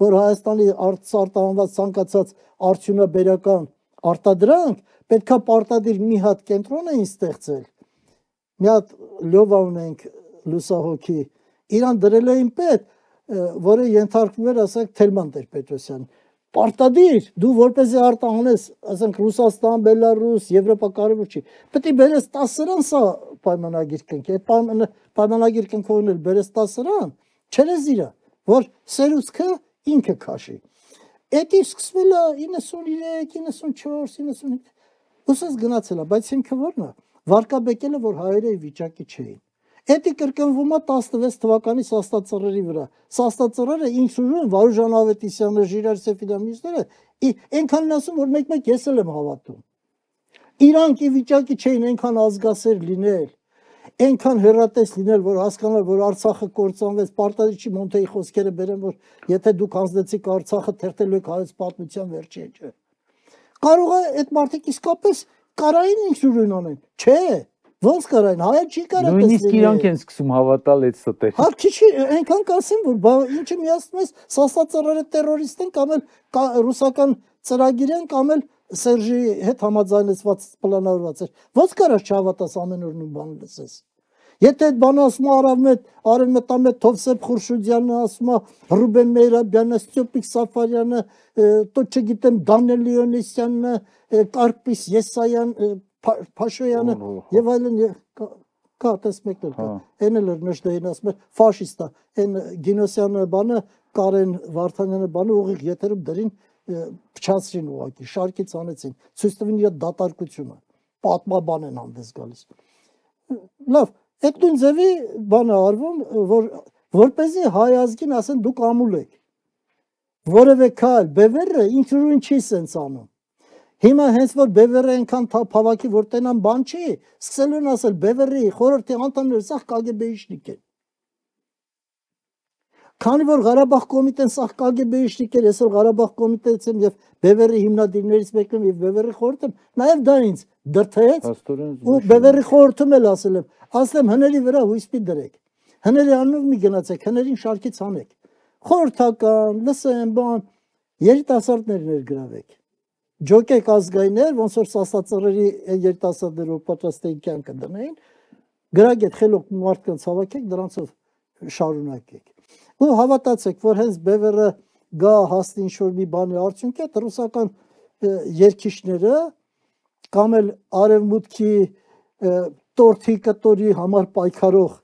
որ Հայաստանի արտահանված ցանկացած արդյունաբերական արտադրանք պետքա պարտադիր մի հատ կենտրոն էին ստեղծել։ Մի հատ լյովա ունենք լուսահոգի, իրան դրել էին պետ, որը ենթարկվում էր, ասենք, Թելման Տեր-Պետրոսյան։ Պարտադիր, դու որպեսզի արտահանես, ասենք, Ռուսաստան, Բելարուս, Եվրոպա կարևոր չի։ Պետք է բերես տասրան սա պայմանագիր կնքի, այդ պայմանագիր կնքողն էլ բերես տասրան, չերես իրա, որ սերուցքը ինքը քաշի։ Էդի սկսվել է իննսուններեք, իննսունչորս, իննսունհինգ, ուսած գնացել է, բայց հիմքը որն է, վարկաբեկելը, որ հայերը վիճակի չէին։ Էդի կրկնվում է տասնվեց թվականի Սաստածռերի վրա։ Սաստածռերը ինքս ուժում Վարուժան Ավետիսյանը, Ժիրայր Սեֆիլյանիչները այնքան են ասում, որ մեկ-մեկ ես էլ եմ հավատում։ Իրանք ի վիճակի չէին այնքան ազգասեր լինել, այնքան հեռատես լինել, որ հասկանալ, որ Արցախը կործանվեց, պարտադիր չի Մոնտեի խոսքերը բերեն, որ եթե դուք հանձնեցիք Արցախը, թերթելու եք հայոց պատմության վերջի էջը։ Կարող է այդ մարդիկ իսկապես կարային ինքս ուժին անեն։ Չէ, ոնց կարային, հայը չի կարող տեսնել։ Նույնիսկ իրանք են սկսում հավատալ այդ ստեղ։ Հա, քիչ այնքան կասեմ, որ ինչը միացնում ես Սաստածռերը տերորիստ են կամ էլ ռուսական ծրագիր են կամ էլ Սերժի հետ համաձայնեցված պլանավորված էր։ Ոնց կարաս չհավատաս ամեն օր նույն բանը լսես։ Եթե այդ բանը ասում է Արևմետ, Արևմետամետ Թովսեփ Խուրշուդյանը, ասում է Ռուբեն Մեյրաբյանը, Ստյոպիկ Սաֆարյանը, то չգիտեմ Դանիել Լեոնիսյանը, Կարպիս Եսայան, Փաշոյանը եւ այլն կա տես մեկներ կա։ Այն էլ նշտեին ասում է ֆաշիստա, այն Գինոսյանը բանը, Կարեն Վարդանյանը բանը ուղիղ եթերում դրին փչացրին ուղակի, շարքից անեցին, ցույց տվին իր դատարկությունը, պատմաբան են հանդես գալիս։ Լավ, այդ նույն ձևի բանը արվում, որ որպեսզի հայ ազգին ասեն դուք ամուլ եք։ Որևէ քայլ, բևերը ինչ-որ չի սենց անում։ Հիմա հենց որ բևերը այնքան փավակի որ տենան բան չի, սկսել են ասել բևերի խորհրդի անդամները սա Կ Գ B-իշնիկ են։ Քանի որ Ղարաբաղ կոմիտեն սա Կ Գ B-իշնիկ էր, ես էլ Ղարաբաղ կոմիտեից եմ եւ բևերի հիմնադիրներից մեկն եմ եւ բևերի խորհրդում, նաեւ դա ինձ դրթեց ու բևերի խորհրդում էլ ասել եմ, ասեմ հների վրա հույս մի դրեք։ Հների անունով մի գնացեք, հներին շարքից անեք։ Խորհրդական, լսեմ, բան, երիտասարդներ ներգրավեք։ Ջոկեք ազգայիններ, ոնց որ Սաստածռերի երիտասարդները պատրաստ էին կյանքը դնեին, գրագետ խելոք մարդկանց հավաքեք, դրանցով շարունակեք։ Ու հավատացեք, որ հենց բևերը գա հասնի ինչ-որ մի բանի արդյունքի, այդ ռուսական երկիշները կամ էլ արևմուտքի տորթի կտորի համար պայքարող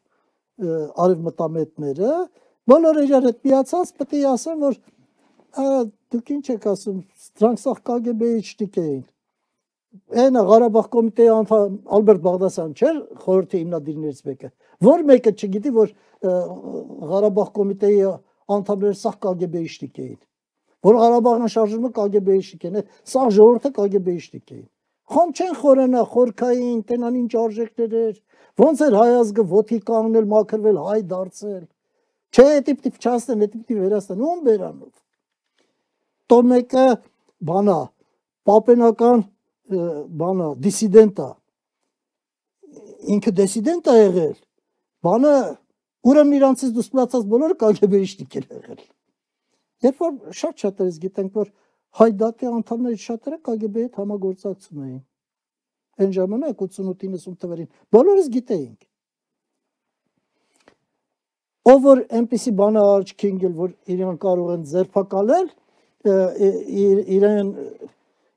արևմտամետները բոլորը իրար հետ միացած պետք է ասեն, որ դուք ինչ եք ասում, դրանք սա Կ Գ B-իշնիկ էին։ Այնա Ղարաբաղ կոմիտեի անդամ Ալբերտ Բաղդասարյան չէր խորհրդի հիմնադիրներից մեկը։ Որ մեկը չգիտի, որ Ղարաբաղ կոմիտեի անդամները սա Կ Գ B-իշնիկ էին։ Որ Ղարաբաղն շարժումը Կ Գ B-իշնիկ են, սա ժողովուրդը Կ Գ B-իշնիկ էին։ Խոմ չեն խորանա, խորքային, տենան ինչ արժեքներ էր, ոնց էր հայ ազգը ոտքի կանգնել, մաքրվել, հայ դարձել։ Չէ, էդի պիտի փչացնեն, էդի պիտի վերացնեն, ում բերանով։ Տո մեկը բանա, պապենական բանա, դիսիդենտ է։ Ինքը դիսիդենտ է եղել։ Բանը ուրեմն իրանցից դուրս մնացած բոլորը Կ Գ B-իշնիկ են եղել։ Երբ որ շատ-շատերից գիտենք, որ հայ դատի անդամներից շատերը Կ Գ B-ի հետ համագործակցում էին։ Այն ժամանակ ութսունութ իննսուն թվերին բոլորս գիտեինք։ ով որ այնպեսի բանը աչքի ընկել, որ իրեն կարող են ձերբակալել, իրեն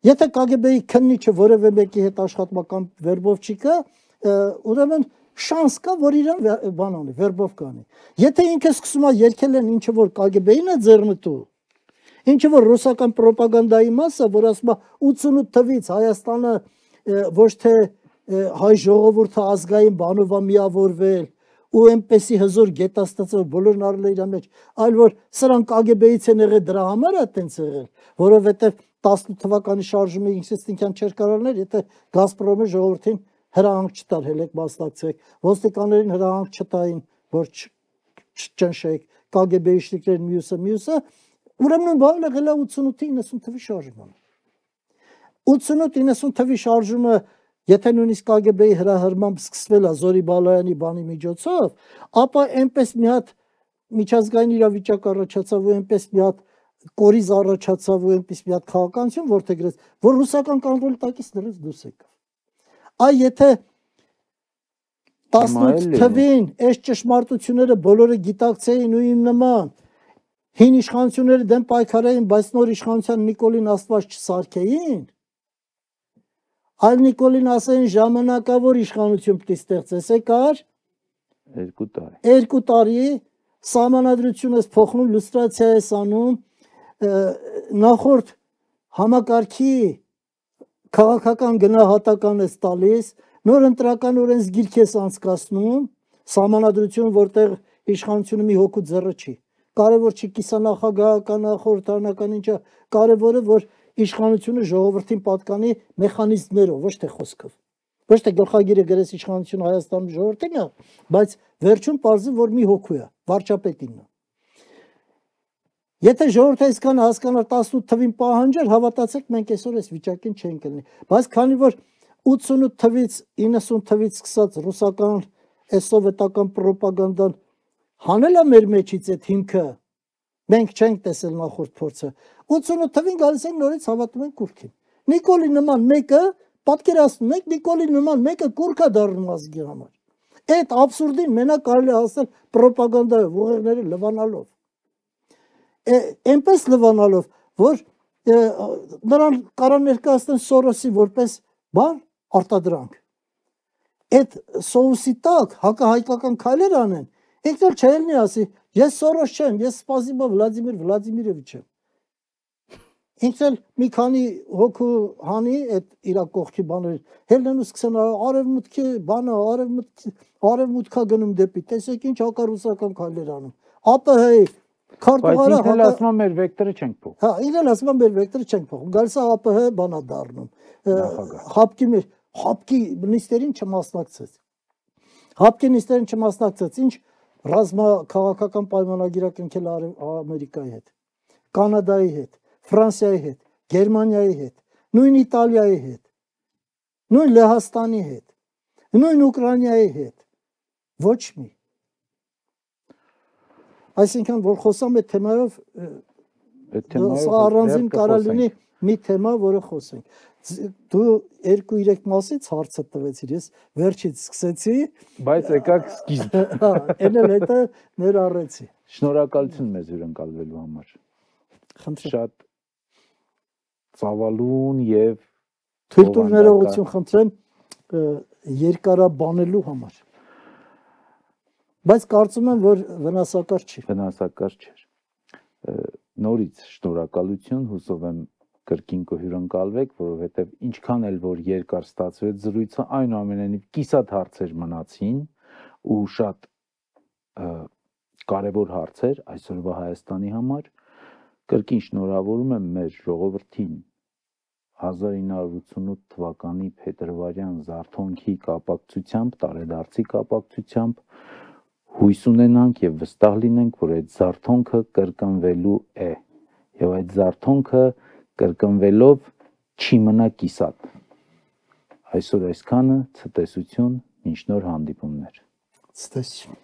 եթե Կ Գ B-ի քննիչը որևէ մեկի հետ աշխատական վերբով չի կա, ուրեմն շանս կա, որ իրեն բան անի, վերբով կանի։ Եթե ինքը սկսում է երկել են ինչը որ Կ Գ B-ին է ձեռնտու, ինչը որ ռուսական պրոպագանդայի մասը, որ ասում է ութսունութ թվականից Հայաստանը ոչ թե հայ ժողովուրդը ազգային բանով է միավորվել, ու այնպեսի հզոր գետաստացող բոլորն արել է իր մեջ, այլ որ սրանք Կ Գ B-ից են եղել դրա համար է տենց եղել, որովհետև տասնութ թվականի շարժումը ինքնստինքյան չէր կարողներ, եթե Գազպրոմը ժողովրդին հրահանգ չտար, հելեք մասնակցեք, ոստիկաններին հրահանգ չտային, որ չճնշեք, Կ Գ B-ի շտիկներն մյուսը, մյուսը, ուրեմն բանը եղել է ութսունութ իննսուն թվականի շարժումը։ ութսունութ իննսուն թվականի շարժումը եթե նույնիսկ Կ Գ B-ի հրահրմամբ սկսվել է Զորի Բալայանի բանի միջոցով, ապա այնպես մի հատ միջազգային իրավիճակ առաջացավ ու այնպես մի հատ կորիզ առաջացավ ու այնպես մի հատ քաղաքականություն որտեղից որ ռուսական կոնտրոլի տակից դրեց դուրս եկավ։ Այ եթե տասնութ թվականին այս ճշմարտությունները բոլորը գիտակցեին ու իմ նման հին իշխանությունների դեմ պայքարային, բայց նոր իշխանության Նիկոլին Աստված չսարքեին, այլ Նիկոլին ասային ժամանակավոր իշխանություն պիտի ստեղծես, եկար երկու տարի։ Երկու տարի սահմանադրություն ես փոխնում, լուստրացիա ես անում, նախորդ համակարգի քաղաքական գնահատական ես տալիս, նոր ընտրական օրենսգիրք ես անցկացնում, սահմանադրություն, որտեղ իշխանությունը մի հոգու ձեռը չի։ Կարևոր չի կիսանախագահական, խորհրդարանական ինչը, կարևորը որ իշխանությունը ժողովրդին պատկանի մեխանիզմներով, ոչ թե խոսքով։ Ոչ թե գլխագիրը գրես իշխանությունը Հայաստանում ժողովրդին է, բայց վերջում պարզի որ մի հոգու է, վարչապետինն է։ Եթե ժողովուրդը այսքան հասկանար տասնութ թվականին պահանջեր, հավատացեք մենք այսօր այս վիճակին չենք լինի։ Բայց քանի որ ութսունութ թվականից իննսուն թվականից սկսած ռուսական այս սովետական պրոպագանդան հանել է մեր մեջից այդ հիմքը, մենք չենք տեսել նախորդ փորձը։ ութսունութ թվականին գալիս են նորից հավատում են կուրքին։ Նիկոլի նման մեկը, պատկերացնում եք, Նիկոլի նման մեկը կուրք է դառնում ազգի համար։ Այդ աբսուրդին մենակ կարելի է հասնել պրոպագանդայով, ուղեղները լվանալով։ Այնպես լվանալով, որ նրան կարան ներկայացնեն Սորոսի որպես բան արտադրանք։ Այդ սոուսի տակ հակահայկական քայլեր անեն, ինքն էլ չելնի ասի, ես Սորոս չեմ, ես Սպասիբո Վլադիմիր Վլադիմիրովիչ եմ։ Ինքն էլ մի քանի հոգու հանի այդ իր կողքի բաներ, հելնեն ու սկսեն արևմուտքի բանը, արևմուտք արևմուտքա գնում դեպի, տեսեք ինչ հակառուսական քայլեր անում։ ԱՊՀ-ի քարտուղարը ինքն էլ ասում է մեր վեկտորը չենք փոխում։ Հա, ինքն էլ ասում է մեր վեկտորը չենք փոխում։ Գալիս է ԱՊՀ բանա դառնում։ Հապկի մեր հապկի նիստերին չմասնակցեց։ Հապկի նիստերին չմասնակցեց, ինչ ռազմա քաղաքական պայմանագիր կնքել Ամերիկայի հետ, Կանադայի հետ, Ֆրանսիայի հետ, Գերմանիայի հետ, նույն Իտալիայի հետ, նույն Լեհաստանի հետ, նույն Ուկրաինայի հետ, ոչ մի։ Այսինքն որ խոսամ այդ թեմայով, սա առանձին կարա լինի մի թեմա, որը խոսենք։ Դու երկու-երեք մասից հարցը տվեցիր, ես վերջից սկսեցի, բայց եկաք սկիզբ։ Հա, այն էլ հետը ներառեցի։ Շնորհակալություն մեզ հյուրընկալվելու համար։ Խնդրեմ։ Շատ ծավալուն եւ թույլ տուր ներողություն խնդրեմ երկարաբանելու համար։ Բայց կարծում եմ, որ վնասակար չի։ Վնասակար չէր։ Նորից շնորհակալություն, հուսով եմ կրկին կհյուրընկալվեք, որովհետև ինչքան էլ որ երկար ստացվեց զրույցը, այնուամենայնիվ կիսատ հարցեր մնացին ու շատ կարևոր հարցեր այսօրվա Հայաստանի համար։ Կրկին շնորհավորում եմ մեր ժողովրդին հազար ինը հարյուր ութսունութ թվականի փետրվարյան զարթոնքի կապակցությամբ, տարեդարձի կապակցությամբ հույս ունենանք եւ վստահ լինենք, որ այդ զարթոնքը կրկնվելու է եւ այդ զարթոնքը կրկնվելով չի մնա կիսատ։ Այսօր այսքանը, ցտեսություն, մինչ նոր հանդիպումներ։ Ցտեսություն։